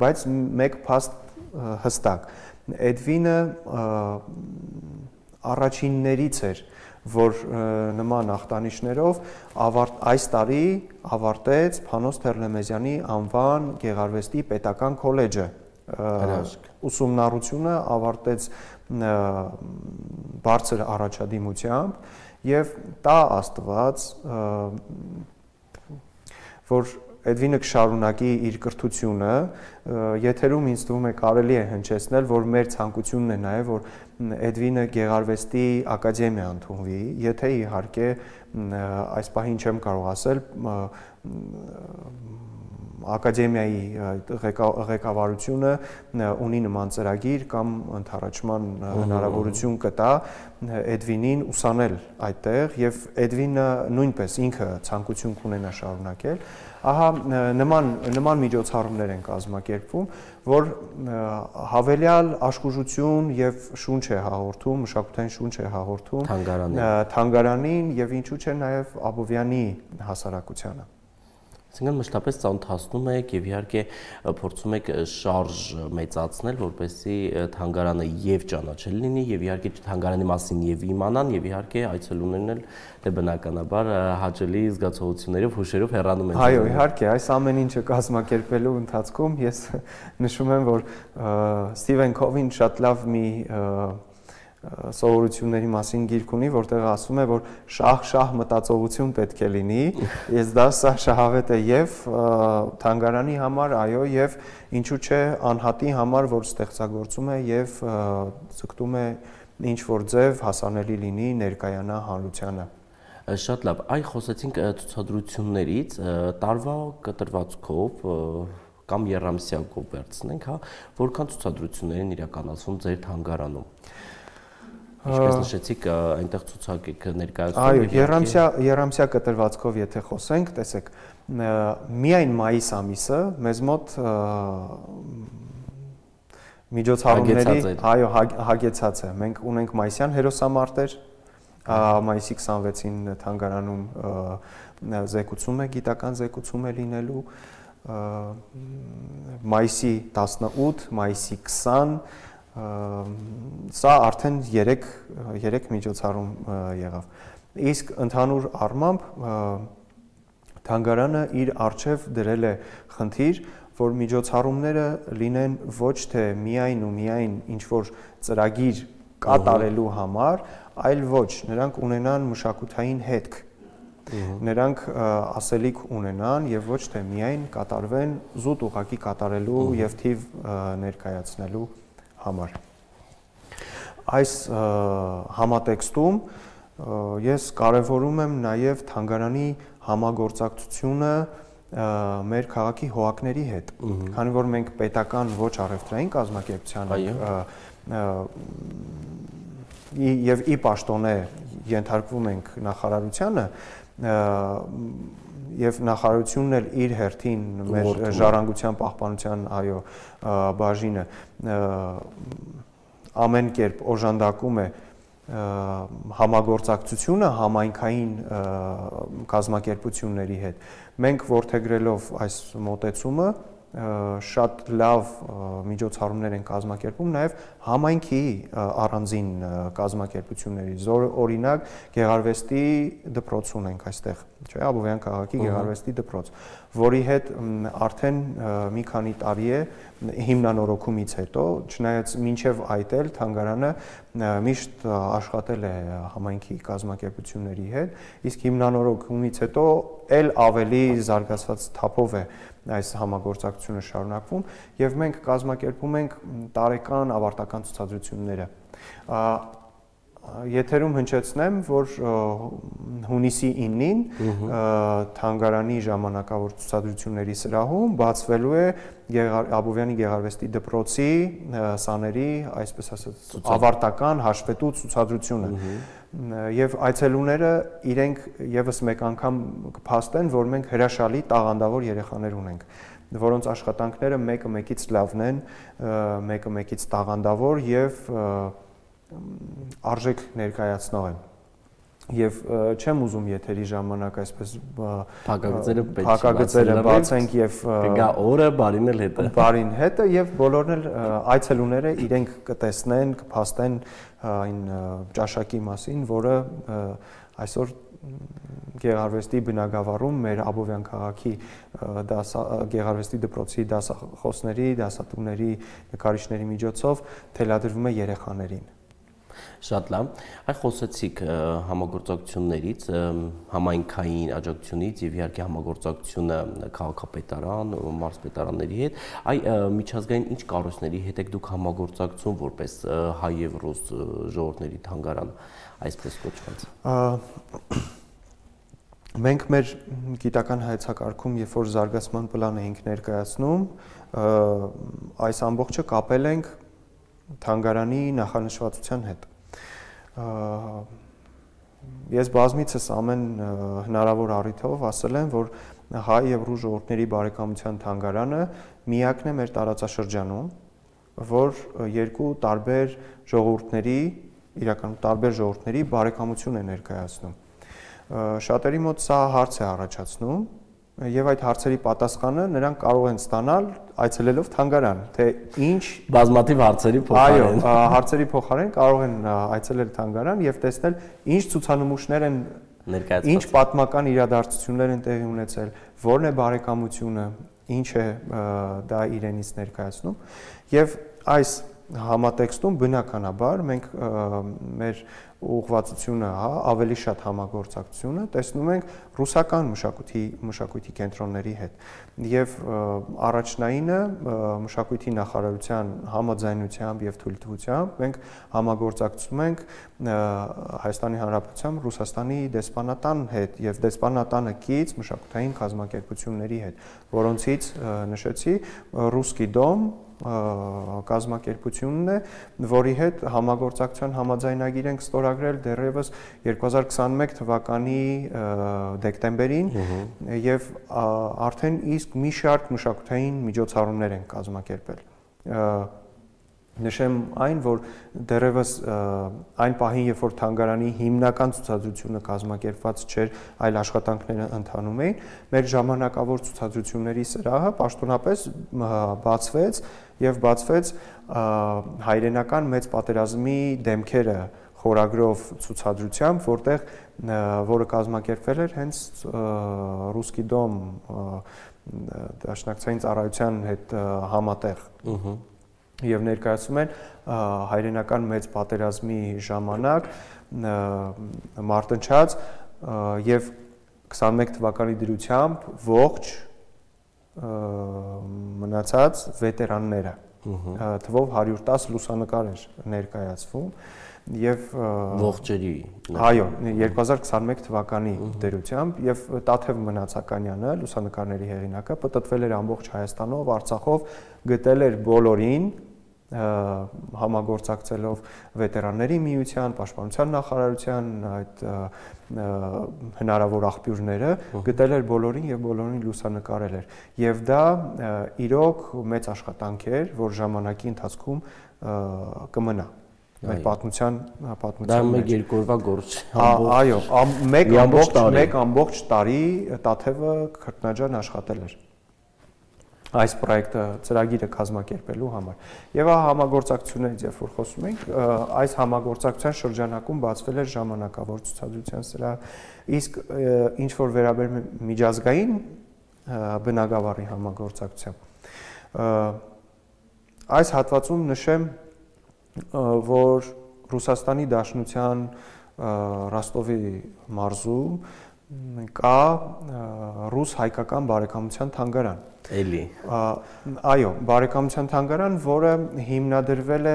բայց մեկ փաստ հստակ, Էդվինը առաջիններից էր, որ նման ախտանիշներով այս տարի ավարտեց Փանոս Թերլեմեզյանի անվան Գեղարվեստի պետական քոլեջը, ուսումնառությունը ավարտեց բարձր առաջադիմությամբ եւ տա Աստված, որ Էդվինը կշարունակի իր կրթությունը, եթերում ինձ թվում է կարելի է հնչեցնել, որ մեր ցանկությունն է նաև, որ Էդվինը Գեղարվեստի ակադեմիա ընդունվի, եթե իհարկե այս պահին չեմ կարող ասել, ակադեմիայի ղեկավարությունը ունի նման ծրագիր կամ ընդառաջման հնարավորություն կտա Էդվինին ուսանել այդտեղ եւ Էդվինը նույնպես ինքը ցանկություն կունենա շարունակել, ահա նման նման միջոցառումներ են կազմակերպվում, որ հավելյալ աշխուժություն եւ շունչ է հաղորդում, մշակութային շունչ է հաղորդում թանգարանին եւ ինչու՞ չէ նաեւ Աբովյանի հասարակությանը։ Այսինքն մշտապես ծանոթացնում եք եւ իհարկե փորձում եք շարժ մեծացնել, որպեսզի թանգարանը եւ ճանաչել լինի եւ իհարկե թանգարանի մասին եւ իմանան եւ իհարկե այցելուներն էլ դե բնականաբար հաճելի զգացողություններով, հուշերով հեռանում են։ Այո, իհարկե, այս ամեն ինչը կազմակերպելու ընթացքում ես նշում եմ, որ Սթիվեն Քովին շատ լավ մի սովորությունների մասին գիրք ունի, որտեղ ասում է, որ շահ-շահ մտածողություն պետք է լինի, ես դա սա շահավետ է եւ թանգարանի համար, այո, եւ ինչու՞ չէ անհատի համար, որ ստեղծագործում է եւ ցկտում է ինչ որ ձև հասանելի լինի ներկայանա հանրությանը։ Շատ լավ, այ խոսեցինք ցուցադրություններից, տարվա կտրվածքով կամ երամսյակով վերցնենք, հա, որքան ցուցադրություններ են իրականացվում ձեր թանգարանում։ Ինչպես նշեցիք, այնտեղ ցուցակ եք ներկայացնում։ Այո, երամսյա երամսյա կտրվածքով եթե խոսենք, տեսեք, միայն մայիս ամիսը մեզ մոտ միջոցառումների, այո, հագեցած է։ Մենք ունենք մայիսյան հերոսամարտեր, մայիսի քսանվեցին թանգարանում զեկուցում է, գիտական զեկուցում է լինելու, մայիսի տասնութ, մայիսի քսան, սա արդեն երեք միջոցառում եղավ։ Իսկ ընդհանուր առմամբ թանգարանը իր առջև դրել է խնդիր, որ միջոցառումները լինեն ոչ թե միայն ու միայն ինչ-որ ծրագիր կատարելու համար, այլ ոչ, նրանք ունենան մշակութային հետք, նրանք ասելիք ունենան եւ ոչ թե միայն կատարվեն զուտ ուղղակի կատարելու եւ թիվ ներկայացնելու համար։ Այս համատեքստում ես կարևորում եմ նաև թանգարանի համագործակցությունը մեր քաղաքի հողակների հետ, քանի որ մենք պետական ոչ առևտրային կազմակերպության եւ ի պաշտոնե ենթարկվում ենք նախարարությանը եւ նախարարությունն էլ իր հերթին մեր ժառանգության պահպանության այո բաժինը ամեն կերպ օժանդակում է համագործակցությունը համայնքային կազմակերպությունների հետ մենք որդեգրելով այս մոտեցումը շատ լավ միջոցառումներ են կազմակերպում նաև համայնքի առանձին կազմակերպությունների օրինակ Գեղարվեստի դպրոց ունենք այստեղ չէ Աբովյան քաղաքի Գեղարվեստի դպրոց որի հետ արդեն մի քանի տարի է հիմնանորոգումից հետո չնայած մինչև այդ էլ թանգարանը միշտ աշխատել է համայնքի կազմակերպությունների հետ իսկ հիմնանորոգումից հետո էլ ավելի զարգացած թափով է այս համագործակցությունը շարունակվում եւ մենք կազմակերպում ենք տարեկան ավարտական ցուցադրությունները Եթերում հնչեցնեմ, որ հունիսի իննին թանգարանի ժամանակավոր ցուցադրությունների սրահում բացվելու է Աբովյանի Գեղարվեստի դպրոցի սաների, այսպես ասած, ավարտական հաշվետու ցուցադրությունը։ Եվ այցելուները իրենք եւս մեկ անգամ կփաստեն, որ մենք հրաշալի տաղանդավոր երեխաներ ունենք, որոնց աշխատանքները մեկը մեկից լավն են, մեկը մեկից տաղանդավոր եւ արժեք ներկայացնող են եւ չեմ ուզում եթերի ժամանակ այսպես փակագծերը փակագծերը բացենք եւ գա օրը բարին էլ հետը բարին հետը եւ բոլորն էլ այցելուները իրենք կտեսնեն կփաստեն այն ճաշակի մասին որը այսօր Գեղարվեստի բնակավարում մեր Աբովյան քաղաքի Գեղարվեստի դպրոցի դասախոսների, դասատուների, նկարիչների միջոցով թելադրվում է երեխաներին Շատ լավ, այ խոսեցիք համագործակցություններից, համայնքային աջակցությունից եւ իհարկե համագործակցությունը քաղաքապետարան, մարզպետարանների հետ, այ միջազգային ինչ կառույցների հետ եք դուք համագործակցում որպես հայ եւ ռուս ժողովուրդների թանգարան, այսպես կոչված։ Մենք մեր գիտական հայեցակարգում, երբ որ զարգացման պլան էինք ներկայացնում, այս ամբողջը կապել ենք թանգարանի նախանշվածության հետ։ Ես բազմիցս ամեն հնարավոր առիթով ասել եմ, որ հայ եւ ռուս ժողովուրդների բարեկամության թանգարանը միակն է մեր տարածաշրջանում, որ երկու տարբեր ժողովուրդների, իրականում տարբեր ժողովուրդների բարեկամություն է ներկայացնում։ Շատերի մոտ սա հարց է առաջացնում եւ այդ հարցերի պատասխանը նրանք կարող են ստանալ այցելելով թանգարան, թե ինչ բազմաթիվ հարցերի փոխարեն։ Այո, հարցերի փոխարեն կարող են այցելել թանգարան եւ տեսնել ինչ ցուցանմուշներ են ներկայացված, ինչ պատմական իրադարձություններ են տեղի ունեցել, որն է բարեկամությունը, ինչ է դա իրենից ներկայացնում եւ այս համատեքստում բնականաբար մենք մեր ուղղվածությունը, հա, ավելի շատ համագործակցությունը տեսնում ենք ռուսական մշակույթի մշակույթի կենտրոնների հետ եւ առաջնայինը մշակույթի նախարարության համաձայնությամբ եւ թույլտվությամբ մենք համագործակցում ենք Հայաստանի Հանրապետության Ռուսաստանի դեսպանատան հետ եւ դեսպանատանը կից մշակութային կազմակերպությունների հետ, որոնցից նշեցի Ռուսկի դոմ կազմակերպությունն է, որի հետ համագործակցության համաձայնագիր ենք ստորագրել դեռևս երկու հազար քսաներկու թվականի դեկտեմբերին եւ արդեն իսկ մի շարք մշակութային միջոցառումներ են կազմակերպել։ Նշեմ այն, որ դեռևս այն պահին, երբ որ թանգարանի հիմնական ցուցադրությունը կազմակերպված չէր, այլ աշխատանքները ընթանում էին, մեր ժամանակավոր ցուցադրությունների սրահը պաշտոնապես բացվեց եւ բացվեց հայրենական մեծ պատերազմի դեմքերը խորագրով ցուցադրությամբ, որտեղ որը կազմակերպվել էր հենց Ռուսկի դոմ դաշնակցային ծառայության հետ համատեղ եւ ներկայացում են հայրենական մեծ պատերազմի ժամանակ մարտնչած եւ քսաներկու թվականի դրությամբ ողջ մնացած վետերանները թվով հարյուր տասը լուսանկար էր ներկայացվում եւ ողջերի այո երկու հազար քսաներկու թվականի դերությամբ եւ Տաթև Մնացականյանը լուսանկարների հեղինակը պատտվել էր ամբողջ Հայաստանով, Արցախով, գտել էր բոլորին համագործակցելով վետերանների միության, պաշտպանության նախարարության այդ հնարավոր աղբյուրները գտել էր բոլորին եւ բոլորին լուսանկարել էր եւ դա իրոք մեծ աշխատանք էր, որ ժամանակի ընթացքում կմնա մեր պատմության պատմության մեջ։ Դա մեկ երկու օրվա գործ է։ Այո, մեկ ամբողջ մեկ ամբողջ տարի Տաթևը քրտնաջան աշխատել էր այս պրոյեկտը ծրագիրը կազմակերպելու համար։ Եվ ահա համագործակցություններից երբ որ խոսում ենք, այս համագործակցության շրջանակում բացվել էր ժամանակավոր ցուցադրության սրահ, իսկ ինչ որ վերաբերում է միջազգային բնագավառի համագործակցությամբ, այս հատվածում նշեմ, որ Ռուսաստանի Դաշնության Ռոստովի մարզում կա ռուս-հայկական բարեկամության թանգարան։ Էլի։ Այո, բարեկամության թանգարան, որը հիմնադրվել է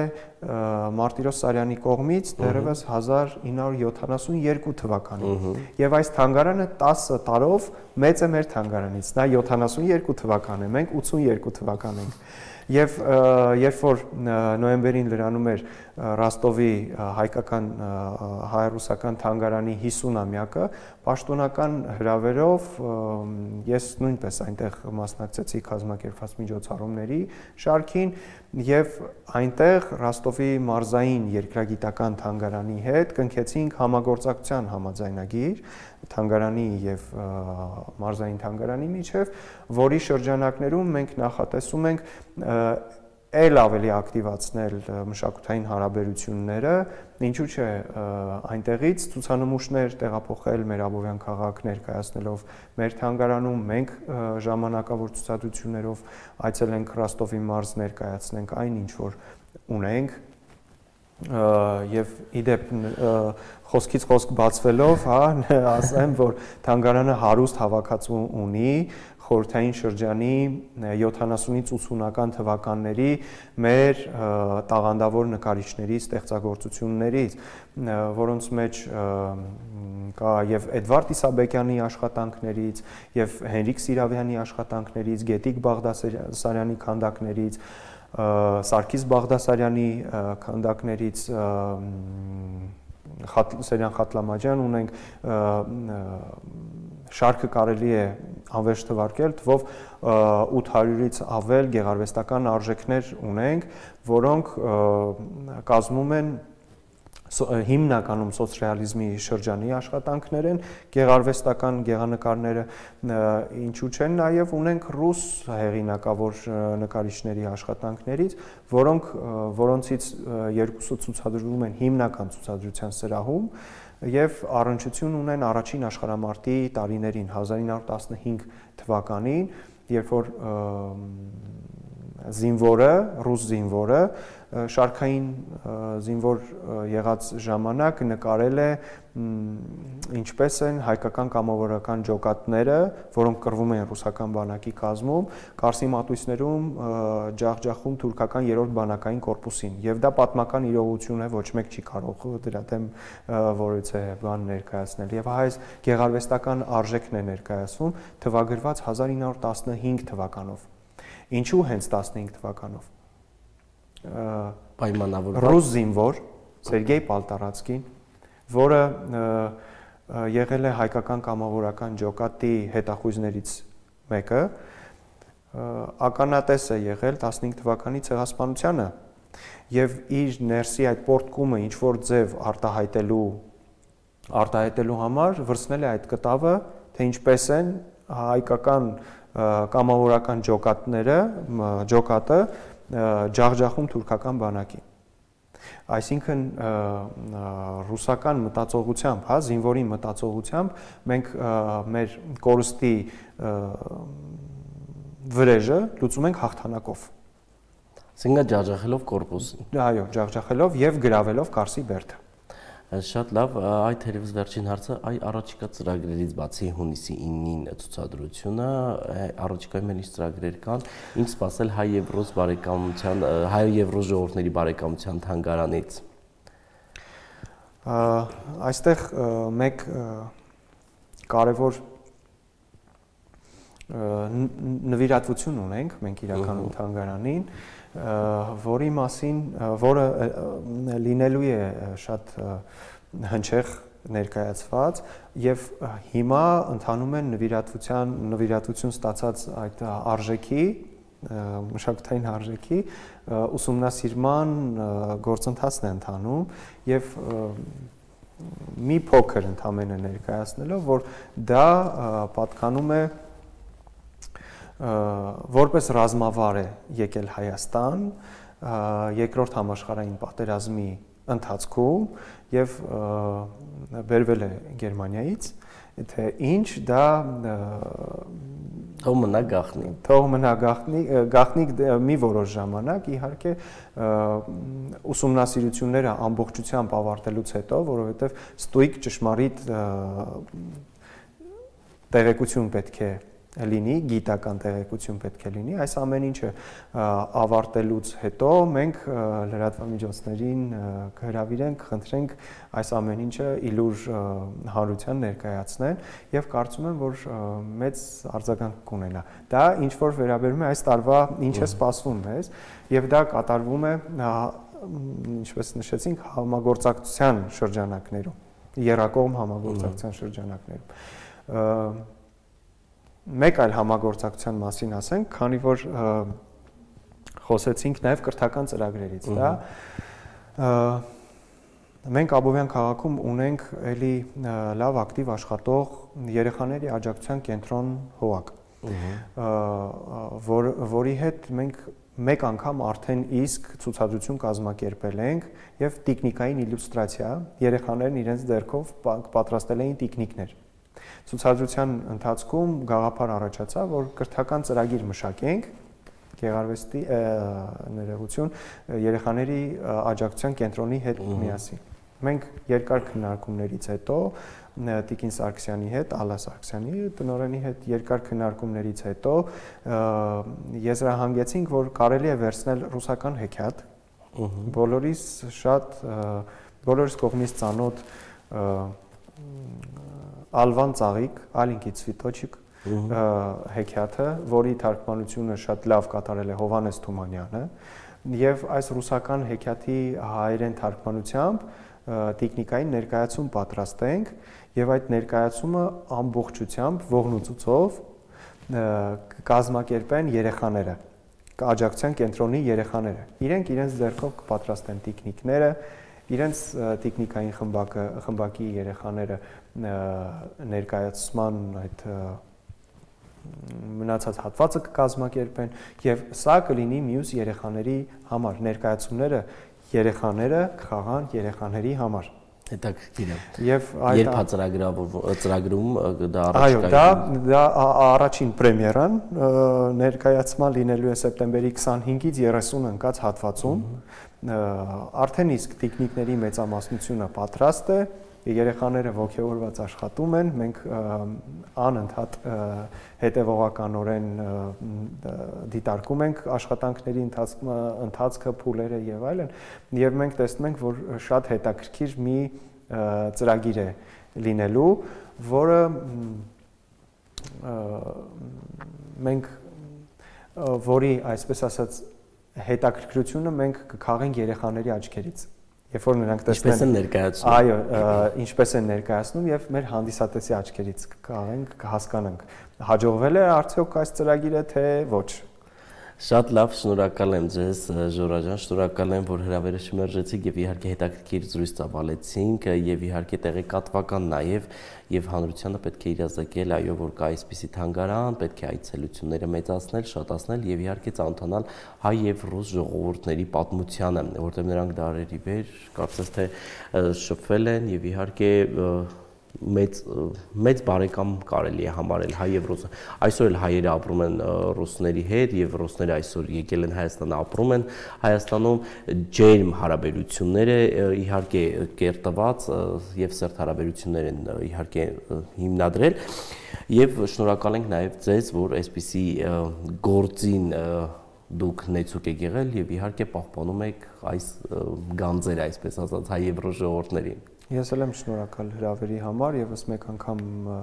Մարտիրոս Սարյանի կողմից դեռևս հազար ինը հարյուր յոթանասունյոթ թվականին։ Եվ այս թանգարանը տասը տարով մեծ է մեր թանգարանից։ Նա յոթանասունյոթ թվական է, մենք ութսունյոթ թվական ենք։ Եվ երբ որ նոյեմբերին լրանում էր Ռոստովի հայկական հայ-ռուսական թանգարանի հիսունամյակը, պաշտոնական հրավերով ես նույնպես այնտեղ մասնակցեցի կազմակերպված միջոցառումների շարքին եւ այնտեղ Ռոստովի մարզային երկրագիտական թանգարանի հետ կնքեցինք համագործակցության համաձայնագիր թանգարանի եւ մարզային թանգարանի միջև, որի շրջանակներում մենք նախատեսում ենք ել ավելի ակտիվացնել մշակութային հարաբերությունները, ինչու՞ չէ այնտեղից ցուցանմուշներ տեղափոխել մեր Աբովյան քաղաք ներկայացնելով մեր թանգարանում, մենք ժամանակավոր ցուցադրություններով այցելենք Ռոստովի մարզ ներկայացնենք այն ինչ որ ունենք եւ իդեպ խոսքից խոսք բացվելով, հա, ասեմ, որ թանգարանը հարուստ հավաքածու ունի խորհրդային շրջանի յոթանասունից ութսունական թվականների մեր տաղանդավոր նկարիչների ստեղծագործություններից, որոնց մեջ կա եւ Էդվարդ Իսաբեկյանի աշխատանքներից, եւ Հենրիկ Սիրավյանի աշխատանքներից, Գետիկ Բաղդասարյանի քանդակներից, Սարգիս Բաղդասարյանի քանդակներից, Սերյան Խատլամաջյան ունենք, շարքը կարելի է անվերջ թվարկել, թվով ութ հարյուրից ավել գեղարվեստական արժեքներ ունենք, որոնք կազմում են հիմնականում սոցռեալիզմի շրջանի աշխատանքներ են, գեղարվեստական գեղանկարները, ինչու չեն, նաև ունենք ռուս հեղինակավոր նկարիչների աշխատանքներից, որոնք որոնցից երկուսը ցուցադրվում են հիմնական ցուցադրության սրահում եւ առնչություն ունեն առաջին աշխարհամարտի տարիներին հազար ինը հարյուր տասնհինգ թվականին, երբ որ զինվորը, ռուս զինվորը շարքային զինվոր եղած ժամանակ նկարել է ինչպես են հայկական կամավորական ջոկատները, որոնք կռվում են ռուսական բանակի կազմում, Կարսի մատույցներում ջախջախում թուրքական երրորդ բանակային կորպուսին, եւ դա պատմական իրողություն է, ոչ մեկ չի կարող դրա դեմ որից է բան ներկայացնել, եւ այս գեղարվեստական արժեքն է ներկայացվում թվագրված հազար ինը հարյուր տասնհինգ թվականով։ Ինչու հենց տասնհինգ թվականով։ Պայմանավորված ռուս զինվոր Սերգեյ Պալտարացկին, որը եղել է հայկական կամավորական ջոկատի հետախույզներից մեկը, ականատես է եղել տասնհինգ թվականի ցեղասպանությանը եւ իր ներսի այդ պորտկումը ինչ որ ձև արտահայտելու արտահայտելու համար վրցնել է այդ կտավը, թե ինչպես են հայկական կամավորական ջոկատները, ջոկատը ջախջախում թուրքական բանակին։ Այսինքն ռուսական մտածողությամբ, հա, զինվորի մտածողությամբ մենք մեր կորստի վրեժը լուծում ենք հաղթանակով։ Այսինքն ջախջախելով կորպուսին։ Այո, ջախջախելով եւ գրավելով Կարսի բերդը։ Շատ լավ, այդ թերևս վերջին հարցը, այ առաջիկա ծրագրերից բացի հունիսի իննին ցուցադրությունը, առաջիկայում էլ ինչ ծրագրեր կան, ինչ սպասել հայ եւ ռուս բարեկամության, հայ եւ ռուս ժողովուրդների բարեկամության թանգարանից։ Այստեղ մեկ կարևոր նվիրատվություն ունենք մենք իրականում թանգարանին, որի մասին, որը լինելու է շատ հնչեղ ներկայացված եւ հիմա ընթանում են նվիրատվության նվիրատվություն ստացած այդ արժեքի, մշակութային արժեքի ուսումնասիրման գործընթացն է ընթանում եւ մի փոքր ընդամենը ներկայացնելով, որ դա պատկանում է որպես ռազմավար է եկել Հայաստան երկրորդ համաշխարհային պատերազմի ընթացքում եւ բերվել է Գերմանիայից, թե ինչ դա թող մնա գաղտնի, թող մնա գաղտնի, գաղտնիք մի որոշ ժամանակ, իհարկե ուսումնասիրությունները ամբողջությամբ ավարտելուց հետո, որովհետեւ ստույգ ճշմարիտ տեղեկություն պետք է լինի, գիտական տեղեկություն պետք է լինի, այս ամեն ինչը ավարտելուց հետո մենք լրատվամիջոցներին կհրավիրենք, խնդրենք այս ամեն ինչը իլուր հանրության ներկայացնեն եւ կարծում եմ, որ մեծ արձագանք կունենա։ Դա ինչ որ վերաբերում է այս տարվա ինչ է սպասվում մեզ եւ դա կատարվում է, ինչպես նշեցինք, համագործակցության շրջանակներում, եռակողմ համագործակցության շրջանակներում։ Մեկ այլ համագործակցության մասին ասենք, քանի որ խոսեցինք նաև կրթական ծրագրերից, դա մենք Աբովյան քաղաքում ունենք էլի լավ ակտիվ աշխատող երեխաների աջակցության կենտրոն ՀՕԱԿ, որ որի հետ մենք մեկ անգամ արդեն իսկ ցուցադրություն կազմակերպել ենք եւ տեխնիկային իլյուստրացիա, երեխաներն իրենց ձեռքով պատրաստել էին տեխնիկներ։ Ցուցադրության ընթացքում գաղափար առաջացավ, որ կրթական ծրագիր մշակենք գեղարվեստի ներողություն երեխաների աջակցության կենտրոնի հետ միասին։ Մենք երկար քննարկումներից հետո Տիկին Սարգսյանի հետ, Ալլա Սարգսյանի տնօրենի հետ երկար քննարկումներից հետո եզրահանգեցինք, որ կարելի է վերցնել ռուսական հեքիաթ, բոլորիս շատ բոլորիս կողմից ծանոթ Ալվան ծաղիկ, Ալինքի ցվիտոչիկ հեքիաթը, որի թարգմանությունը շատ լավ կատարել է Հովհաննես Թումանյանը, եւ այս ռուսական հեքիաթի հայերեն թարգմանությամբ տեխնիկային ներկայացում պատրաստենք եւ այդ ներկայացումը ամբողջությամբ ողնուծուցով կազմակերպեն երեխաները, աջակցության կենտրոնի երեխաները։ Իրենք իրենց ձեռքով կպատրաստեն տեխնիկները, իրենց տեխնիկային խմբակը, խմբակի երեխաները ներկայացման այդ մնացած հատվածը կկազմակերպեն եւ սա կլինի մյուս երեխաների համար, ներկայացումները երեխաները կխաղան երեխաների համար։ Հետաքրքիր է։ Եվ երբ ծրագրում դա առաջիկա։ Այո, դա դա առաջին պրեմիերան ներկայացման լինելու է սեպտեմբերի քսանհինգից երեսուն ընկած հատվածում։ Արդեն իսկ տեխնիկների մեծամասնությունը պատրաստ է, երեխաները ոգևորված աշխատում են, մենք անընդհատ հետևողականորեն դիտարկում ենք աշխատանքների ընթացքը, փուլերը եւ այլն, եւ մենք տեսնում ենք, որ շատ հետաքրքիր մի ծրագիր է լինելու, որը մենք որի, այսպես ասած, հետաքրքրությունը մենք կքաղենք երեխաների աչքերից։ Երբ որ նրանք տեսնեն ինչպես են ներկայացնում, այո, ինչպես են ներկայացնում եւ մեր հանդիսատեսի աչքերից կհաղենք, կհասկանանք, հաջողվել է արդյոք այս ծրագիրը, թե ոչ։ Շատ լավ, շնորհակալ եմ ձեզ, Ժորա ջան, շնորհակալ եմ, որ հրավերը շմերժեցիք եւ իհարկե հետաքրքիր զրույց ծավալեցինք եւ իհարկե տեղեկատվական նաեւ եւ հանրությանը պետք է իրազեկել, այո, որ կա այսպիսի թանգարան, պետք է այցելությունները մեծացնել, շատացնել եւ իհարկե ծանոթանալ հայ եւ ռուս ժողովուրդների պատմությանը, որտեղ նրանք դարերի վեր կարծես թե շփվել են եւ իհարկե մեծ մեծ բարեկամ կարելի է համարել հայ եւ ռուս։ Այսօր էլ հայերը ապրում են ռուսների հետ եւ ռուսները այսօր եկել են Հայաստան, ապրում են Հայաստանում, ջերմ հարաբերությունները իհարկե կերտված եւ սերտ հարաբերություններ են իհարկե հիմնադրել եւ շնորհակալ ենք նաեւ ձեզ, որ այսպիսի գործին դուք նեցուկ եք եղել եւ իհարկե պահպանում եք այս գանձերը, այսպես ասած, հայ եւ ռուս ժողովուրդներին։ Ես էլ եմ շնորհակալ հրավերի համար եւս մեկ անգամ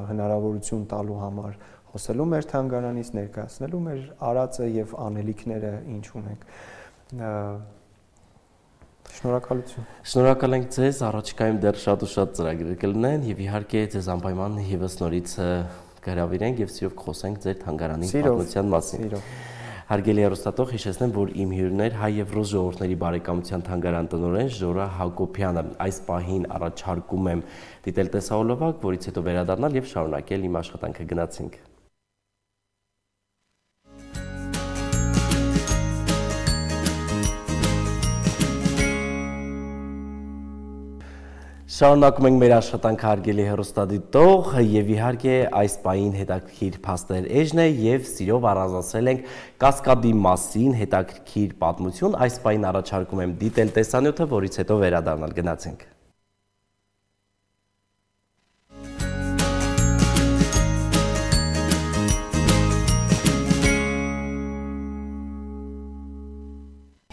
հնարավորություն տալու համար խոսելու մեր թանգարանից, ներկայացնելու մեր արածը եւ անելիքները ինչ ունենք։ Շնորհակալություն։ Շնորհակալ ենք ձեզ, առաջիկայում դեռ շատ ու շատ ծրագրեր կլինեն եւ իհարկե ձեզ անպայման եւս նորից կհրավիրենք եւ սիրով կխոսենք ձեր թանգարանի պատմության մասին։ Սիրով։ Հարգելի հեռուստատող, հիշեցնեմ, որ իմ հյուրներ հայ եւ ռուս ժողովուրդների բարեկամության թանգարան տնօրեն Ժորա Հակոբյանը։ Այս պահին առաջարկում եմ դիտել տեսահոլովակ, որից հետո վերադառնալ եւ շարունակել իմ աշխատանքը։ Գնացինք։ Շարունակում ենք մեր աշխատանքը, հարգելի հեռուստադիտող, եւ իհարկե այս պահին հետաքրքիր փաստեր էջն է եւ սիրով առանձնացրել ենք Կասկադի մասին հետաքրքիր պատմություն։ Այս պահին առաջարկում եմ դիտել տեսանյութը, որից հետո վերադառնալ։ Գնացինք։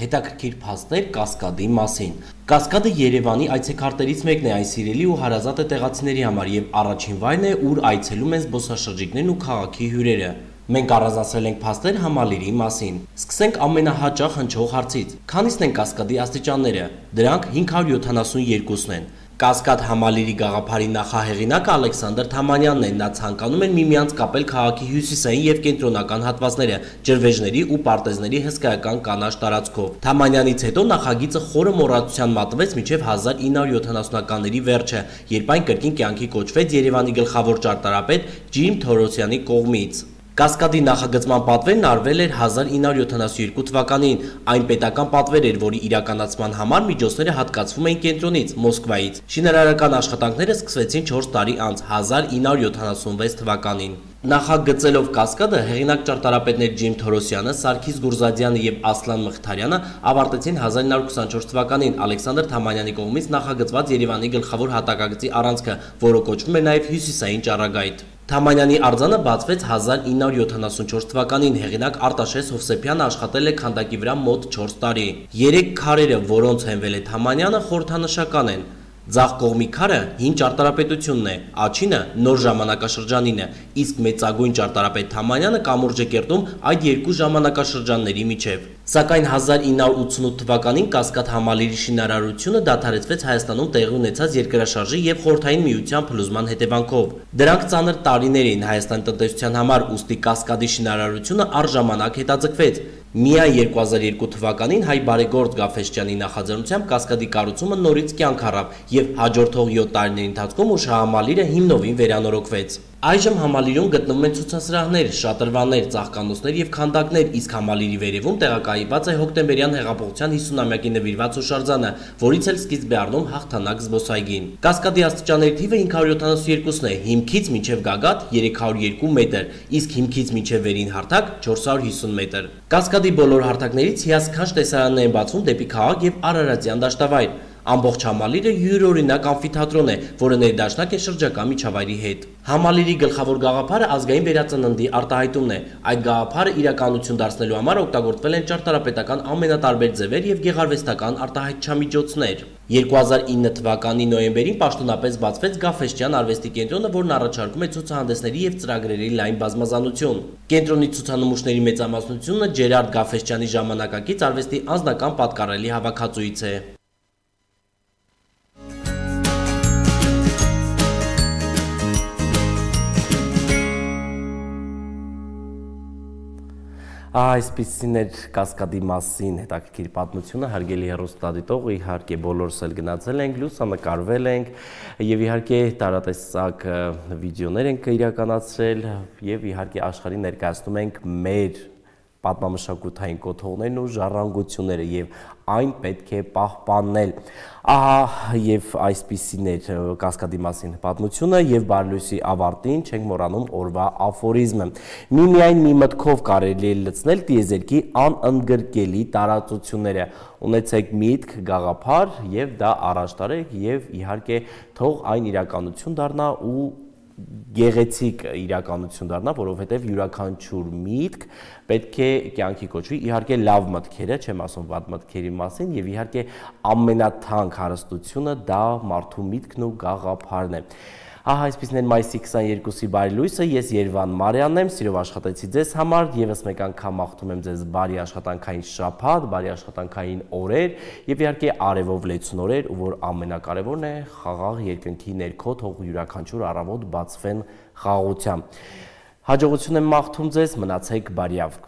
Հետաքրքիր փաստեր Կասկադի մասին։ Կասկադը Երևանի այցեքարտերից մեկն է, այն սիրելի ու հարազատ է տեղացիների համար եւ առաջին վայրն է, ուր այցելում են զբոսաշրջիկներն ու քաղաքի հյուրերը։ Մենք առանձնացրել ենք փաստեր Համալիրի մասին։ Սկսենք ամենահաճախ հնչող հարցից. քանիսն են Կասկադի աստիճանները։ Դրանք հինգ հարյուր յոթանասունյոթն են։ Կասկադ Համալիրի գաղափարի նախահեղինակը Ալեքսանդր Թամանյանն է, նա ցանկանում էր միմյանց կապել քաղաքի հյուսիսային եւ կենտրոնական հատվածները, ջրվեժների ու պարտեզների հսկայական կանաչ տարածքով։ Թամանյանից հետո նախագիծը խորը մոռացության մատնվեց մինչև հազար ինը հարյուր յոթանասունականների վերջը, երբ այն կրկին կյանքի կոչվեց Երևանի գլխավոր ճարտարապետ Ջիմ Թորոսյանի կողմից։ Կասկադի նախագծման պատվերն արվել էր հազար ինը հարյուր յոթանասունյոթ թվականին, այն պետական պատվեր էր, որի իրականացման համար միջոցները հատկացվում էին կենտրոնից, Մոսկվայից։ Շինարարական աշխատանքները սկսվեցին չորս տարի անց, հազար ինը հարյուր յոթանասունվեց թվականին։ Նախագծելով Կասկադը, հեղինակ ճարտարապետներ Ջիմ Թորոսյանը, Սարգիս Գուրզադյանը եւ Ասլան Մխիթարյանը ավարտեցին հազար ինը հարյուր քսանչորս թվականին Ալեքսանդր Թամանյանի կողմից նախագծված Երևանի գլխավոր հատակագծի առանցքը, որը կոչվում էր նաեւ Հյուսիսային ճառագայթ։ Թամանյանի արձանը բացվեց հազար ինը հարյուր յոթանասունչորս թվականին, հեղինակ Արտաշես Հովսեփյանը աշխատել է քանդակի վրա մոտ չորս տարի։ Երեք քարերը, որոնց հենվել է Թամանյանը, խորհրդանշական են։ Ձախ կողմի քարը հին ճարտարապետությունն է, աջինը նոր ժամանակաշրջանին է, իսկ մեծագույն ճարտարապետ Թամանյանը կամուրջ է կերտում այդ երկու ժամանակաշրջանների միջև։ Սակայն հազար ինը հարյուր ութսունութ թվականին Կասկադ Համալիրի շինարարությունը դադարեցվեց Հայաստանում տեղի ունեցած երկրաշարժի եւ Խորհրդային Միության փլուզման հետևանքով։ Դրանք ծանր տարիներ էին Հայաստանի տնտեսության համար, ուստի Կասկադի շինարարությունը առժամանակ հետաձգվեց։ Միայն երկու հազար երկու թվականին հայ բարեգործ Գաֆէսճյանի նախաձեռնությամբ Կասկադի կառուցումը նորից կյանք առավ եւ հաջորդող յոթ տարիների ընթացքում Ուշահամալիրը հիմնովին վերանորոգվեց։ Այժմ Համալիրում գտնվում են ցուցասրահներ, շատրվաններ, ծաղկանոցներ եւ քանդակներ, իսկ Համալիրի վերևում տեղակայված է հոկտեմբերյան հեղափոխության հիսունամյակի նվիրված հուշարձանը, որից էլ սկիզբ է առնում հաղթանակ զբոսայգին։ Կասկադի աստիճանների թիվը հինգ հարյուր յոթանասունյոթ է, հիմքից մինչև գագաթ երեք հարյուր երկու մետր, իսկ հիմքից մինչև վերին հարթակ չորս հարյուր հիսուն մետր։ Կասկադի բոլոր հարթակներից հիասքանչ տեսարաններ են բացվում դեպի քաղաք եւ Արարատյան դաշտավայր։ Ամբողջ Համալիրը յուրօրինակ ամֆիթատրոն է, որը ներդաշնակ է շրջակա միջավայրի հետ։ Համալիրի գլխավոր գաղափարը ազգային վերածննդի արտահայտումն է։ Այդ գաղափարը իրականություն դարձնելու համար օգտագործվել են ճարտարապետական ամենատարբեր ձևեր եւ գեղարվեստական արտահայտչամիջոցներ։ երկու հազար ինը թվականի նոյեմբերին պաշտոնապես բացվեց Գաֆէսճյան արվեստի կենտրոնը, որն առաջարկում է ցուցահանդեսների եւ ծրագրերի լայն բազմազանություն։ Կենտրոնի ցուցանմուշների մեծամասնությունը Ջերարդ Գաֆէսճյանի ժամանակակից արվեստի անձնական պատկառելի հավաքածուից է։ Այսպիսին էր Կասկադի մասին հետաքրքիր պատմությունը, հարգելի հեռուստադիտող, իհարկե բոլորս էլ գնացել ենք, լուսանկարվել ենք եւ իհարկե տարատեսակ վիդեոներ ենք իրականացրել եւ իհարկե աշխարհին ներկայացնում ենք մեր պատմամշակութային կոթողներն ու ժառանգությունները եւ այն պետք է պահպանել։ Ահա եւ այսպիսին էր Կասկադի մասին պատմությունը եւ բարելույսի ավարտին չենք մոռանում օրվա աֆորիզմը։ Միմիայն մի մտքով կարելի է լցնել տիեզերքի անընդգրկելի տարածությունները։ Ունեցեք միտք, գաղափար եւ դա առաջ տարեք եւ իհարկե թող այն իրականություն դառնա ու գեղեցիկ իրականություն դառնա, որովհետև յուրաքանչյուր միտք պետք է կյանքի կոչվի, իհարկե լավ մտքերը, չեմ ասում վատ մտքերի մասին, եւ իհարկե ամենաթանկ հարստությունը դա մարդու միտքն ու գաղափարն է։ Ահա այսպիսին էր մայիսի քսաներկուսի բարի լույսը, ես Երվան Մարյանն եմ, սիրով աշխատեցի ձեզ համար, եւս մեկ անգամ մաղթում եմ ձեզ բարի աշխատանքային շաբաթ, բարի աշխատանքային օրեր եւ իհարկե արևով լեցուն օրեր, ու որ ամենակարևորն է խաղաղ երկնքի ներքո թող յուրաքանչյուր առավոտ բացվեն խաղաղությամբ։ Հաջողություն եմ մաղթում ձեզ, մնացեք բարյավ։